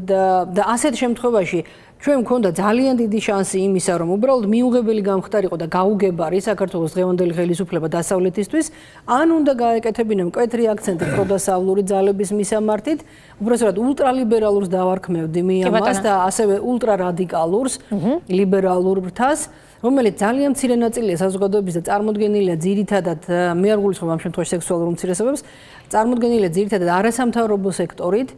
და ასეთ შემთხვევაში ჩვენ მქონდა ძალიან დიდი შანსი იმისა, რომ უბრალოდ მიუღებელი გამხდარიყო და გაუგებარი საქართველოს დღევანდელი ხელისუფლება დასავლეთისთვის, ან უნდა გაეკეთებინა მკვეთრი აქცენტი პროდასავლური ძალების მისამართით, უბრალოდ ულტრალიბერალურს დავარქმევდი მიამას და ასევე ულტრარადიკალურს, ლიბერალურ ბრთას, რომელიც ძალიან მცირე ნაწილია საზოგადოების და წარმოდგენილია ძირითადად, მე არ გულისხმობ ამ შემთხვევაში სექსუალურ უმცირესობებს, წარმოდგენილია ძირითადად არასამთავრობო სექტორით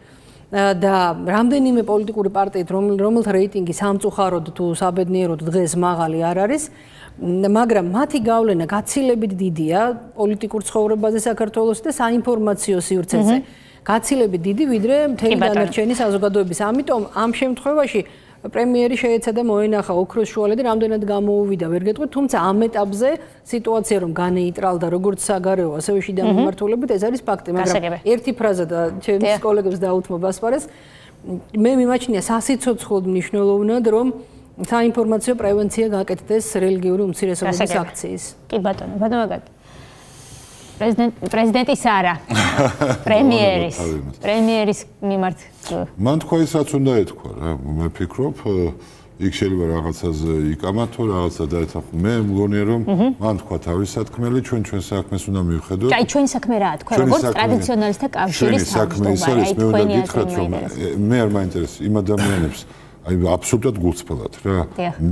და რამდენიმე პოლიტიკური პარტიით, რომელთა რეიტინგი სამწუხაროდ თუ საბედნიეროდ დღეს მაღალი არ არის, მაგრამ მათი გავლენა გაცილებით დიდია პოლიტიკურ ცხოვრებაზე საქართველოს და საინფორმაციო სივრცეზე. გაცილებით დიდი, ვიდრე მთელი დანარჩენი საზოგადოების. ამიტომ ამ შემთხვევაში პრემიერი შეეცადა მოენახა ოქროს შუალედი, რამდენად გამოუვიდა, ვერ გეტყვით, თუმცა ამ ეტაპზე სიტუაცია რომ განეიტრალდა როგორც საგარეო, ასევე შიდა მიმართულებით, ეს არის ფაქტი, მაგრამ ერთი ფრაზა და ჩემს კოლეგებს დაუთმობ ასპარეს, მე მიმაჩნია სასიცოცხლოდ მნიშვნელოვნად, რომ საინფორმაციო პრევენცია გაკეთდეს რელიგიური უმცირესობების აქციის. კი ბატონო, ბატონო პრეზიდენტის არა, პრემიერის მიმართ. მან თქვა ის რაც უნდა ეთქვა რა, მე ვფიქრობ, იქ შეიძლება რაღაცაზე იკამათო, რაღაცა დაეთახო. მე მგონია რომ მან თქვა თავის სათქმელი, ჩვენ საქმეს უნდა მივხედოთ. აი ჩვენი საქმე რა თქვა, როგორც ტრადიციონალისტთა კავშირის თავმჯდომარე, აი თქვენი გითხრათ რომ მე არ მაინტერესებს იმ ადამიანებს აი აბსოლუტურად გულწრფელად რა.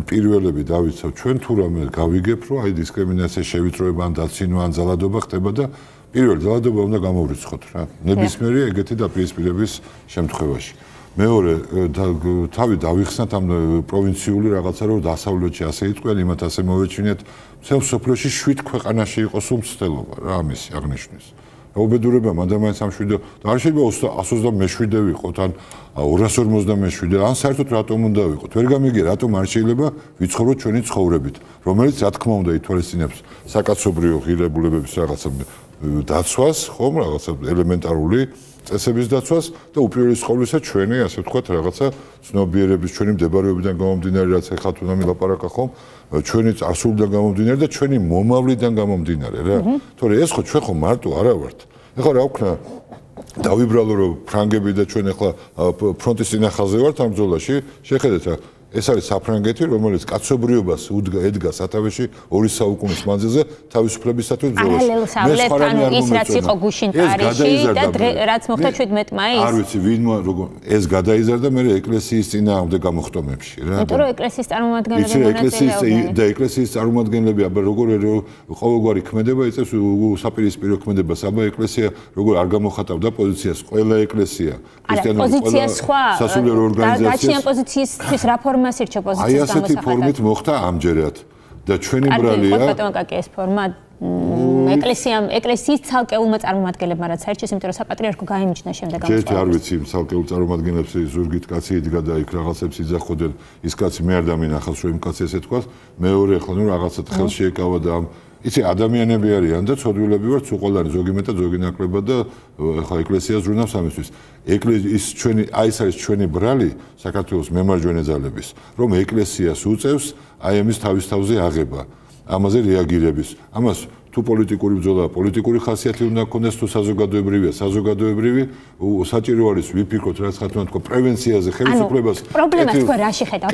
პირველები დავიცავ ჩვენ თუ რამე გავიგებ რომ აი დისკრიმინაცია შევიწროება ან დაცინვა ან ძალადობა ხდება და პირველ ძალადობა უნდა გამოვრიცხოთ რა. ნებისმიერი ეგეთი დაპირისპირების შემთხვევაში. მეორე თავი დავიხსნათ ამ პროვინციული რაღაცა რომ დასავლეთში ასე იტყვიან, იმათ ასე მოვეჩინეთ, მთელ სოფლიოში 7 ქვეყანაში იყოს უმცდელობა რა ამისი აღნიშნვის. უბედურებამ ადამიანს ამ 7 და არ შეიძლება 127 ვიყოთ ან 257 ან საერთოდ რატომ უნდა ვიყოთ? ვერ გამიგია რატომ არ შეიძლება ვიცხოვროთ ჩვენი ცხოვრებით, რომელიც რა თქმა უნდა ითვალისწინებს საკაცობრიო ღირებულებების რაღაცა დაცვას, ხომ, რაღაცა ელემენტარული წესების დაცვას და უპირველეს ყოვლისა ჩვენი, ასე ვთქვათ, რაღაცა ცნობიერების, ჩვენი მდებარეობიდან გამომდინარე, რაც ეხლა თუ ნამი ლაპარაკა ხომ, ჩვენი წარსულიდან გამომდინარე და ჩვენი მომავლიდან გამომდინარე რა. თორე ეს ხო ჩვენ ხო მარტო არა ვართ. ეხლა რა ვქნა დავიბრალო რომ ფრანგები და ჩვენ ეხლა ფრონტის წინახაზე ვართ ამ ბრძოლაში, შეხედეთ რა ეს არის საფრანგეთი, რომელიც კაცობრიობას ედგა სათავეში 2 საუკუნის მანძილზე თავისუფლებისათვის ბრძოლაში. მე სხვანაირ ის რაც იყო გუშინ პარიზში და რაც მოხდა 17 მაისს. არ ვიცი ვინმა როგორ ეს გადაიზარდა მე ეკლესიის წინააღმდეგ გამოხტომებში რა. იმიტომ რომ ეკლესიის წარმომადგენლები მონაწილეობდნენ. და ეკლესიის წარმომადგენლები აბა როგორ ყოველგვარი ქმედება იწევს საპირისპირო ქმედებას. აბა ეკლესია როგორ არ გამოხატავდა პოზიციას, ყველა ეკლესია ქრისტიანული პოზიცია სხვა სასულიერო ორგანიზაციას. გაჩნია პოზიციის რეფორმა აი ასეთი ფორმით მოხდა ამჯერად და ჩვენი ბრალია ხო ბატონო კაკი ეს ფორმა ეკლესიის ცალკეულმა წარმომადგენლებმა რაც საერთოდ იმიტომ რომ საპატრიარქო გაიმიჯნა შემდეგ ამ ჯერ არ ვიცი ცალკეულ წარმომადგენლებს ზურგით კაცი იდგა და იქ რაღაცებს იძახოდნენ ის კაცი მე არ დამინახავს რომ იმ კაცი ესე თქვას მეორე ახლა ნუ რაღაცად ხელში ეკავა და ამ იცი ადამიანები არიან და ცოდვილები ვართ უყოლანი ზოგი მეტად ზოგი ნაკლებად და ახლა ეკლესიას ზრუნავს ამისთვის ის ჩვენი აი ეს არის ჩვენი ბრალი საქართველოს მემარჯვენე ძალების რომ ეკლესიას უწევს აი ამის თავის თავზე აღება ამაზე რეაგირების ამას თუ პოლიტიკური ბრძოლა პოლიტიკური ხასიათი უნდა ქონდეს თუ საზოგადოებრივია საზოგადოებრივი საჭირო არის ვიფიქროთ რაც ხათუნა თქვა პრევენციაზე ხელისუფლებას პრობლემას თქვა რა შეხედავთ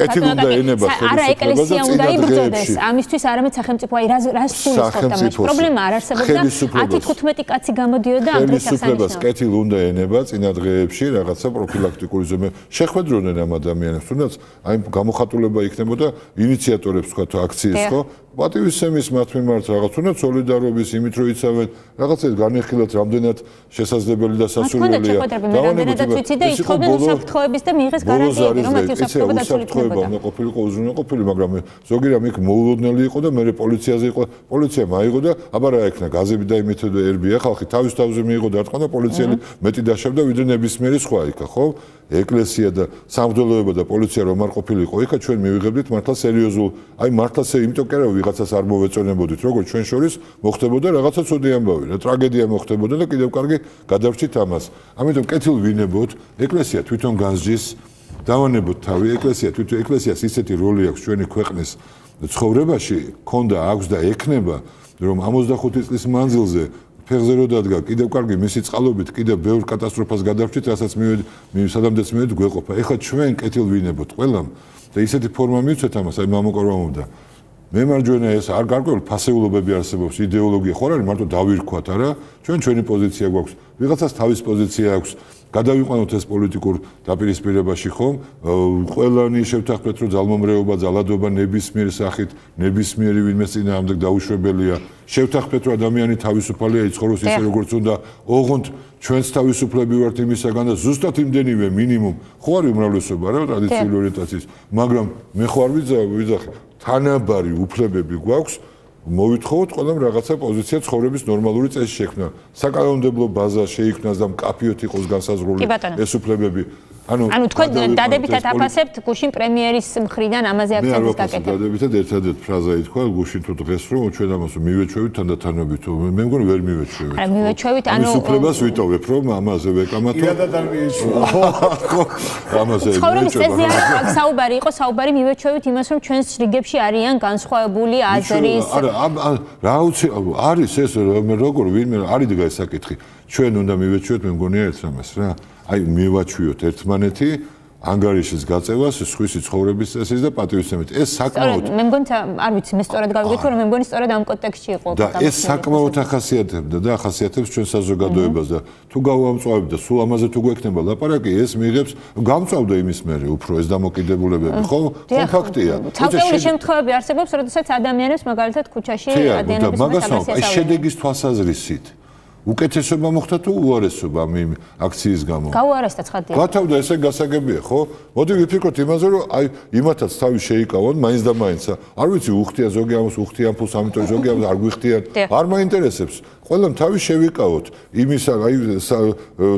არა ეკლესია უნდა იბრძოდეს ამისთვის არამედ სახელმწიფო აი რას გულისხმობთ ამაში პრობლემა არ არსებობდა 10-15 კაცი გამოდიოდა ამ დღეს ხელისუფლებას კეთილ უნდა ენება წინა დღეებში რაღაცა პროფილაქტიკური ზომე შეხვედროდნენ ამ ადამიანებს თუნდაც აი გამოხატულება იქნებოდა ინიციატორებს თქვა აქციის ხო პატივისცემის მათ მიმართ რაღაც უნდა სოლიდარობის იმით რომ იცავენ რაღაცას განეხილათ რამდენად შესაძლებელი და სასურველია დავანებოთ ვიცი და ითხოვდნენ უსაფრთხოების და მიიღეს გარანტიები რომ მათი უსაფრთხოება დასრულდებოდა უნდა ყოფილიყო უზრუნველყოფილი მაგრამ ზოგი რამ იქ მოულოდნელი იყო და მე პოლიციაზე იყო პოლიცია მაიღო და აბა რა ეკნა გაზები და იმით ერბია ხალხი თავის თავზე მიიღო და რა თქმა უნდა პოლიციელი მეტი დაშავდა ვიდრე ნებისმიერი სხვა იქა ხო ეკლესია და სამღვდელოება და პოლიცია რომ არ ყოფილიყო იქა ჩვენ მივიღებდით მართლა სერიოზულ აი მართლა იმიტომ კი არა ვიღაცას არ მოვეწონებოდით როგორც ჩვენ შორის მოხდებოდა რაღაცა ცუდი ამბავი რა ტრაგედია მოხდებოდა და კიდევ კარგი გადავრჩით ამას ამიტომ კეთილ ვინებოთ ეკლესია თვითონ განსჯის დავანებოთ თავი ეკლესიას ისეთი როლი აქვს ჩვენი ქვეყნის ცხოვრებაში ქონდა აქვს და ექნება რომ 65 წლის მანძილზე ფეხზე რო დადგა კიდევ კარგი მისი წყალობით კიდევ ბევრ კატასტროფას გადავრჩით რასაც სადამდეც მივედი გვეყოფა ეხლა ჩვენ კეთილ ვინებოთ ყველამ და ისეთი ფორმა მივცეთ ამას, აი მამოკორვამობდა. მემარჯვენე ეს არ გარკვეული ფასეულობები არსებობს, იდეოლოგია ხო არ არის მარტო დავირქვათ, არა? ჩვენი პოზიცია გვაქვს, ვიღაცას თავის პოზიცია აქვს. გადავიყვანოთ ეს პოლიტიკურ დაპირისპირებაში ხომ? ყველანი შევთანხმდეთ, რომ ძალმომრეობა, ძალადობა ნებისმიერ სახით, ნებისმიერი ვინმეს წინააღმდეგ დაუშვებელია. შევთანხმდეთ, რომ ადამიანი თავისუფალია, იცხოვროს ისე როგორც უნდა. ოღონდ ჩვენც თავისუფლები ვართ იმისაგან და ზუსტად იმდენივე მინიმუმ ხო არის უმრავლესობა რა ტრადიციული ორიენტაციის, მაგრამ მე ხო არ ვიძახი, თანაბარი უფლებები გვაქვს. მოვითხოვოთ ყველამ რაღაცა პოზიცია ცხოვრების ნორმალური წესი შექმნა. საკანონმდებლო ბაზა შეიქმნას და მკაფიოდ იყოს განსაზღვრული ეს უფლებები. ანუ თქვენ დადებითად აფასებთ გუშინ პრემიერის მხრიდან ამაზე აქცენტის გაკეთებას. დადებითად ერთადერთი ფრაზა ითქვა გუშინ თუ დღეს რომ ჩვენ ამას მივეჩვევით თანდათანობით. მე მგონი ვერ მივეჩვევით. არა მივეჩვევით, ანუ ამის უფლებას ვიტოვებ რომ ამაზე ვეკამათო. იადად არ მიიჩვევა. ამაზე ცხოვრების წესზე აქ საუბარი იყო, საუბარი მივეჩვევით იმას რომ ჩვენს რიგებში არიან განსხვავებული აზრის. არა, რა უცი არის ეს როგორ ვინმე არის დგა ეს საკითხი. ჩვენ უნდა მივეჩვევთ მე მგონია ერთ რამეს რა. აი მივაჩვიოთ ერთმანეთი ანგარიშის გაწევას, სხვისი ცხოვრების წესის და პატივისცემით. ეს საკმაოდ მე მგონი არ ვიცი, მე სწორად გავიგეთ, რომ მე მგონი სწორად ამ კონტექსტში იყო. და ეს საკმაოდ ახასიათებდა და ახასიათებს ჩვენ საზოგადოებას და თუ გავამწვავებ და სულ ამაზე თუ გვექნება ლაპარაკი, ეს მიიღებს გამწვავდა იმის მერე უფრო ეს დამოკიდებულებები, ხო? ფაქტია. ცალკეული შემთხვევები არსებობს, როდესაც ადამიანებს მაგალითად ქუჩაში ადამიანების მაგას აი შედეგის თვალსაზრისით უკეთესობა მოხდა თუ უარესობა ამ აქციის გამო? გაუარესდა ცხადია. გათავდა ესე გასაგებია, ხო? მოდი ვიფიქროთ იმაზე, რომ აი იმათაც თავი შეიკავონ, მაინც და მაინც. არ ვიცი, უხდია ზოგი ამას, უხდიან ფულს, ამიტომ ზოგი ამას არ გვიხდიან. არ მაინტერესებს. ყველამ თავი შევიკავოთ. იმის აი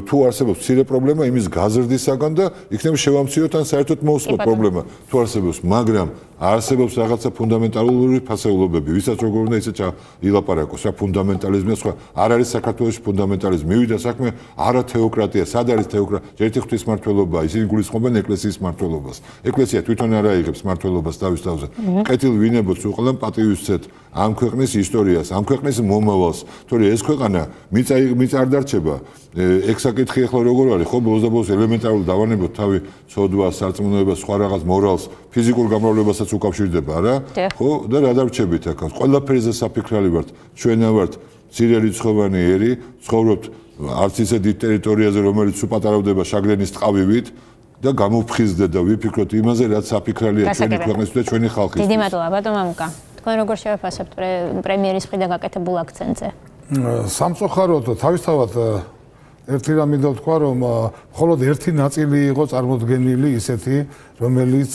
თუ არსებობს მცირე პრობლემა იმის გაზრდისაგან და იქნება შევამციროთ ან საერთოდ მოусწროთ პრობლემა თუ არსებობს, მაგრამ არსებობს რაღაცა ფუნდამენტალური ფასეულობები, ვისაც როგორ უნდა ისე ილაპარაკოს, რა ფუნდამენტალიზმია სხვა. არ არის საქართველოში ფუნდამენტალიზმი. მივიდა საქმე არა თეოკრატია, სად არის თეოკრატია? ერთი ღვთისმმართველობა, ისინი გულისხმობენ ეკლესიის მმართველობას. ეკლესია თვითონ არ აიღებს მმართველობას თავის თავზე. კეთილ ვინებოც უყლან პატივისცეთ ამ ქვეყნის ისტორიას, ამ ქვეყნის მომავალს. თორე ეს ქვეყანა მიწ არ დარჩება. ეგ საკითხი ახლა როგორ არის, ხო? ბოლოს და ბოლოს ელემენტარული დავანებოთ თავი ცოდვას, სარწმუნოებას, სხვა რაღაც მორალს, ფიზიკურ გამრავლებასაც უკავშირდება, რა? ხო? და რა დარჩებით აქ? ყველაფერზე საფიქრალი ვართ, ჩვენა ვართ მცირე რიცხოვანი ერი, ცხოვრობთ არც ისე დიდ ტერიტორიაზე, რომელიც უპატარავდება შაგრენის ტყავივით და გამოფხიზდეთ და ვიფიქროთ იმაზე, რაც საფიქრალია ჩვენი ქვეყნისთვის და ჩვენი ხალხისთვის. დიდი მადლობა, ბატონ მამუკა. თქვენ როგორ შევაფასებთ პრემიერის მხრიდან გაკეთებულ აქცენტზე? სამწუხაროდ თავისთავად ერთი რამ მინდა ვთქვა, რომ მხოლოდ ერთი ნაწილი იყო წარმოდგენილი ისეთი, რომელიც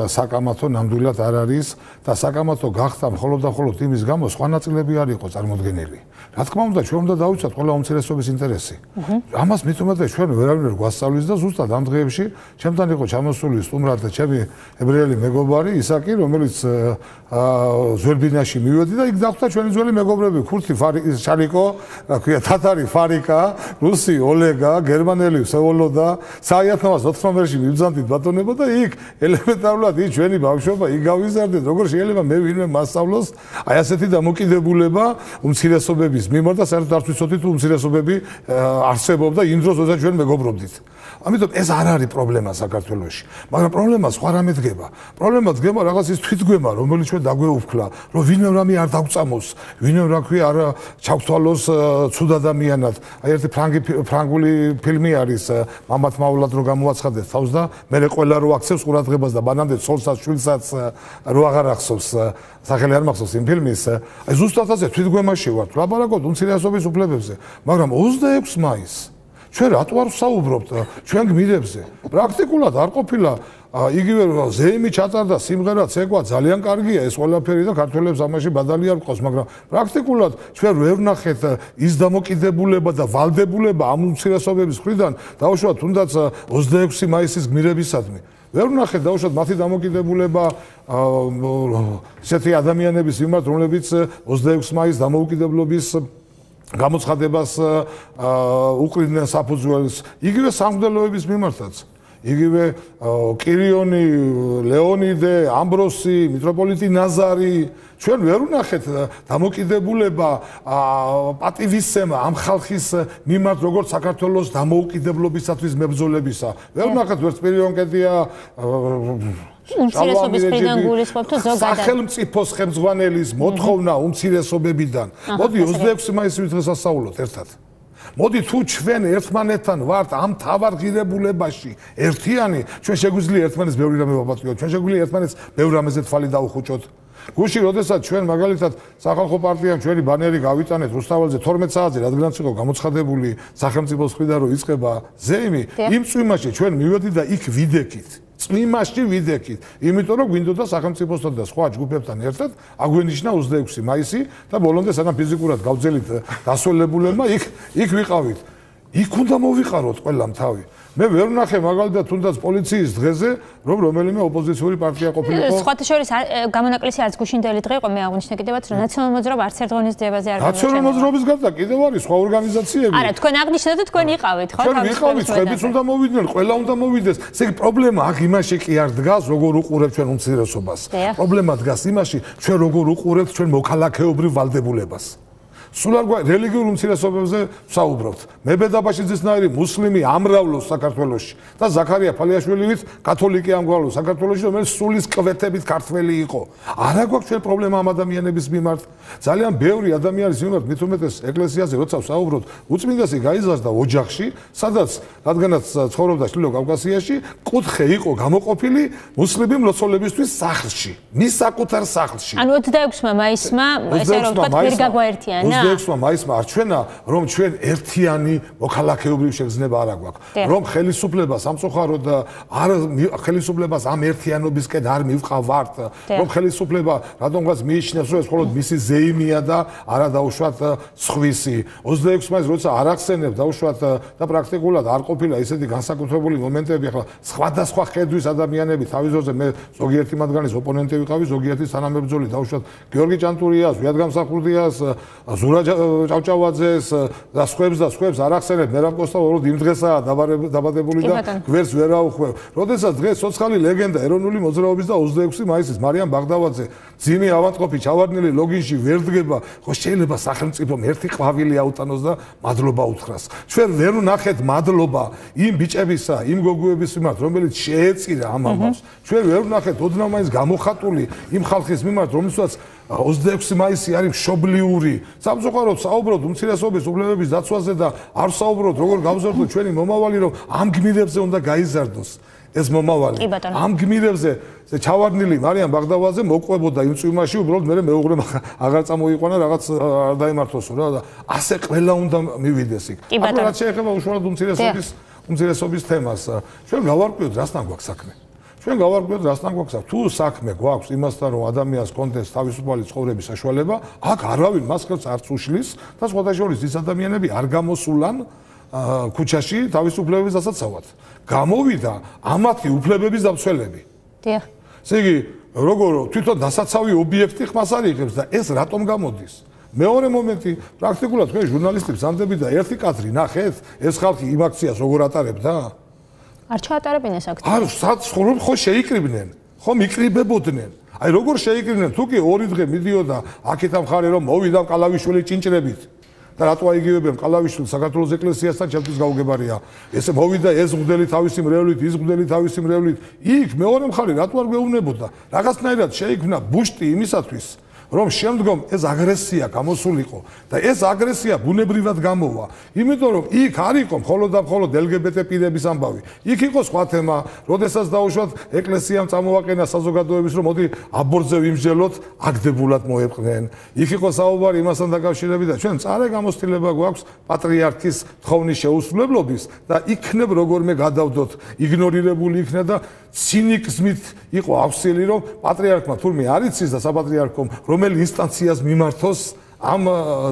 საკამათო ნამდვილად არ არის და საკამათო გახდა მხოლოდ და მხოლოდ იმის გამო, სხვა ნაწილები არ იყო წარმოდგენილი. რა თქმა უნდა, ჩვენ უნდა დავიცვათ ყველა უმცირესობის ინტერესი. ამას მით უმეტეს ჩვენ ვერავინ არ გვასწავლის და ზუსტად ამ დღეებში ჩემთან იყო ჩამოსული სტუმრად ჩემი ებრაელი მეგობარი ისაკი, რომელიც ზვერბინაში მივედი და იქ დახვდა ჩვენი ძველი მეგობრები, ქურთი შარიკო, რა ქვია, თათარი ფარიკა, რუსი ოლეგა, გერმანელი სევოლოდა, საათნავას 19-ში მივძანდით ბატონებო და იქ ელემენტარულად ის ჩვენი ბავშვობა იქ გავიზარდეთ, როგორ შეიძლება მე ვინმე მასწავლოს აი ასეთი დამოკიდებულება უმცირესობების მიმართ და საერთოდ არ ვიცოდი თუ უმცირესობები არსებობდა იმ დროს, როდესაც ჩვენ მეგობრობდით. ამიტომ ეს არ არის პრობლემა საქართველოში, მაგრამ პრობლემა სხვა რამე დგება. პრობლემა დგება რაღაც ის თვითგვემა, რომელიც ჩვენ დაგვეუფქლა, რომ ვინმე რამე არ დაგწამოს, ვინმე რა ქვია არ ჩავთვალოს ცუდ ადამიანად. აი ერთი ფრანგული ფილმი არის მამათ მაულად რო გამოაცხადეთ თავს და მე ყველა რო აქცევს ყურადღებას და მანამდე ცოლსაც შვილსაც რო აღარ ახსოვს სახელი არ მახსოვს იმ ფილმის. აი ზუსტად ასე თვითგვემაში ვართ, ლაპარაკობთ უმცირესობის უფლებებზე, მაგრამ 26 მაისს ჩვენ რატო არ ვსაუბრობთ ჩვენ გმირებზე? პრაქტიკულად არ ყოფილა იგივე ზეიმი ჩატარდა სიმღერა ცეკვა ძალიან კარგია ეს ყველაფერი და ქართველებს ამაში ბადალი არ ყავს, მაგრამ პრაქტიკულად ჩვენ ვერ ვნახეთ ის დამოკიდებულება და ვალდებულება ამ უმცირესობების მხრიდან დაუშვათ თუნდაც 26 მაისის გმირებისადმი. ვერ ვნახეთ დაუშვათ მათი დამოკიდებულება ესეთი ადამიანების მიმართ, რომლებიც 26 მაისის დამოუკიდებლობის გამოცხადებას უყრიდნენ საფუძველს, იგივე სამღვდელოების მიმართაც. იგივე კირიონი, ლეონიდე, ამბროსი, მიტროპოლიტი ნაზარი, ჩვენ ვერ ვნახეთ დამოკიდებულება პატივისცემა ამ ხალხის მიმართ როგორც საქართველოს დამოუკიდებლობისათვის მებრძოლებისა. ვერ ვნახეთ ვერც პირიონკედია უმცირესობის მხრიდან გულისხმობ თუ ზოგადად სახელმწიფოს ხელმძღვანელის მოთხოვნა უმცირესობებიდან. მოდი 26 მაისის დღეს ასაულოთ ერთად. მოდი თუ ჩვენ ერთმანეთთან ვართ ამ თავარ ღირებულებაში ერთიანი, ჩვენ შეგვიძლია ერთმანეთს ბევრი რამე ვაპატიოთ, ჩვენ შეგვიძლია ერთმანეთს ბევრ რამეზე თვალი დაუხუჭოთ. გუში, როდესაც ჩვენ მაგალითად სახალხო პარტიამ ჩვენი ბანერი გავიტანეთ რუსთაველზე 12 საათზე, რადგანაც იყო გამოცხადებული სახელმწიფოს მხრიდან რომ იწყება ზეიმი, იმ წვიმაში ჩვენ მივედით და იქ ვიდექით. წვიმაში ვიდექით, იმიტომ რომ გვინდოდა სახელმწიფოსთან და სხვა ჯგუფებთან ერთად აგვენიშნა 26 მაისი და ბოლომდე სანამ ფიზიკურად გავძელით დასვენებულებმა იქ ვიყავით. იქ უნდა მოვიყაროთ ყველამ თავი. მე ვერ ვნახე მაგალითად თუნდაც პოლიციის დღეზე რომ რომელიმე ოპოზიციური პარტია ყოფილიყო. სხვათა შორის გამონაკლისი არც გუშინდელი დღე იყო, მე აღნიშნე კიდევაც რომ ნაციონალურ მოძრაობა არც ერთ ღონისძიებაზე არ გამორჩენილა. ნაციონალურ მოძრაობის გარდა კიდევ არის სხვა ორგანიზაციები. არა, თქვენ აღნიშნეთ და თქვენ იყავით, ხო? ჩვენ ვიყავით, ხებიც უნდა მოვიდნენ, ყველა უნდა მოვიდეს. ესე იგი პრობლემა აქ იმაში კი არ დგას, როგორ უყურებთ ჩვენ უმცირესობას. პრობლემა დგას იმაში, ჩვენ როგორ უყურებთ ჩვენ მოქალაქეობრივ ვალდებულებას. სულ არ რელიგიურ უმცირესობებზე ვსაუბრობთ. მებედაბაშიძისნაირი მუსლიმი ამრავლოს საქართველოში და ზაქარია ფალიაშვილივით კათოლიკე ამრავლოს საქართველოში, რომელიც სულის კვეთებით ქართველი იყო. არა გვაქვს ჩვენ პრობლემა ამ ადამიანების მიმართ. ძალიან ბევრი ადამიანის მიმართ, მით უმეტეს ეკლესიაზე როცა ვსაუბრობთ, უწმინდესი გაიზარდა ოჯახში, სადაც რადგანაც ცხოვრობდა ჩრდილო კავკასიაში, კუთხე იყო გამოყოფილი მუსლიმი მლოცველებისთვის სახლში, მის საკუთარ სახლში. ანუ 26 მაისმა, ესე რომ ვთქვათ, ვერ გაგვაერთიანა? 26 მაისმა არჩენა, რომ ჩვენ ერთიანი მოქალაქეობრივი შეგრძნება არ აგვაქვს, რომ ხელისუფლებას სამწუხაროდ არ ხელისუფლებას ამ ერთიანობისკენ არ მივყავართ, რომ ხელისუფლება რადგანაც მიიჩნევს, რომ ეს მხოლოდ მისი ზეიმია და არა დაუშვათ სხვისი. 26 მაისს როცა არ ახსენებ დაუშვათ და პრაქტიკულად არ ყოფილა ისეთი განსაკუთრებული მომენტები, ახლა სხვადასხვა ხედვის ადამიანები თავის ძორზე, მე ზოგიერთი მათგანის ოპონენტი ვიყავი, ზოგიერთი თანამებრძოლი დაუშვათ გიორგი ჭანტურიას, ვიად გამსახურდიას, ზურა ჭავჭავაძეს და სხვებს არ ახსენებ, მერაბ კოსტა უბრალოდ იმ დღესაა დაბადებული და გვერდს ვერ აუხვევ. როდესაც დღეს ცოცხალი ლეგენდა ეროვნული მოძრაობის და 26 მაისის მარიამ ბაღდავაძე ძიმი ავანტყოფი ჩავარდნილი ლოგინში ვერ დგება, ხო შეიძლება სახელმწიფომ ერთი ყვავილი აუტანოს და მადლობა უთხრას. ჩვენ ვერ ვნახეთ მადლობა იმ ბიჭებისა, იმ გოგოების მიმართ, რომელიც შეეწირა ამ ამბავს. ჩვენ ვერ ვნახეთ ოდნავ მაინც გამოხატული იმ ხალხის მიმართ, რომელსაც 26 მაისი არის მშობლიური. სამწუხაროდ საუბრობთ უმცირესობის უფლებების დაცვაზე და არ საუბრობთ როგორ გავზარდოთ ჩვენი მომავალი, რომ ამ გმირებზე უნდა გაიზარდოს ეს მომავალი. ამ გმირებზე ჩავარდნილი მარიამ ბაღდავაძე მოყვებოდა იმ წვიმაში, უბრალოდ მე მეუღლემ აღარ წამოიყვანა რაღაც არ დაიმართოსო რა და ასე ყველა უნდა მივიდეს იქ. ახლა რაც შეეხება უშუალოდ უმცირესობის თემას, ჩვენ გავარკვიოთ რასთან გვაქვს საქმე. ჩვენ გავარკვიოთ რასთან გვაქვს თუ საქმე გვაქვს იმასთან რომ ადამიანს კონტექსტ თავისუფალი ცხოვრების საშუალება, აქ არავინ მას ხელს არ წუშლის და სხვათა შორის ის ადამიანები არ გამოსულან ქუჩაში თავისუფლების დასაცავად. გამოვიდა ამათი უფლებების დამცველები. დიახ. ესე იგი, როგორ თვითონ დასაცავი ობიექტი ხმას არ იღებს და ეს რატომ გამოდის? მეორე მომენტი, პრაქტიკულად თქვენ ჟურნალისტებს ამდები და ერთი კადრი ნახეთ, ეს ხალხი იმ აქციას როგორ ატარებდა? არ ჩაატარებინ ეს აქცია. არ საცხოვრებ ხო შეიკრიბნენ, ხო მიკრიბებოდნენ. აი როგორ შეიკრიბნენ, თუ კი ორი დღე მიდიოდა აქეთ ამ ხარე რომ მოვიდა კალავიშვილი ჭინჭრებით და რატო აიგივებენ კალავიშვილს საქართველოს ეკლესიასთან ჩემთვის გაუგებარია. ესე მოვიდა ეს მღვდელი თავისი მრევლით, ის მღვდელი თავისი მრევლით. იქ მეორე მხარე რატო არ გვეუბნებოდა? რაღაცნაირად შეიქმნა ბუშტი იმისათვის რომ შემდგომ ეს აგრესია გამოსულიყო და ეს აგრესია ბუნებრივად გამოვა. იმიტომ რომ იქ არ იყო მხოლოდ და მხოლოდ LGBT პირების ამბავი. იქ იყო სხვა თემა, როდესაც დაუშვათ ეკლესიამ წამოვაყენა საზოგადოების რომ მოდი აბორტზე ვიმსჯელოთ, აგდებულად მოეპყნენ. იქ იყო საუბარი იმასთან დაკავშირებით და ჩვენ წარე გამოცდილება გვაქვს პატრიარქის თხოვნის შეუსრულებლობის და იქნებ როგორმე გადავდოთ, იგნორირებული იქნა და ცინიზმით იყო ავსილი რომ პატრიარქმა თურმე არ იცის და საპატრიარქომ რომელი ინსტანციას მიმართოს ამ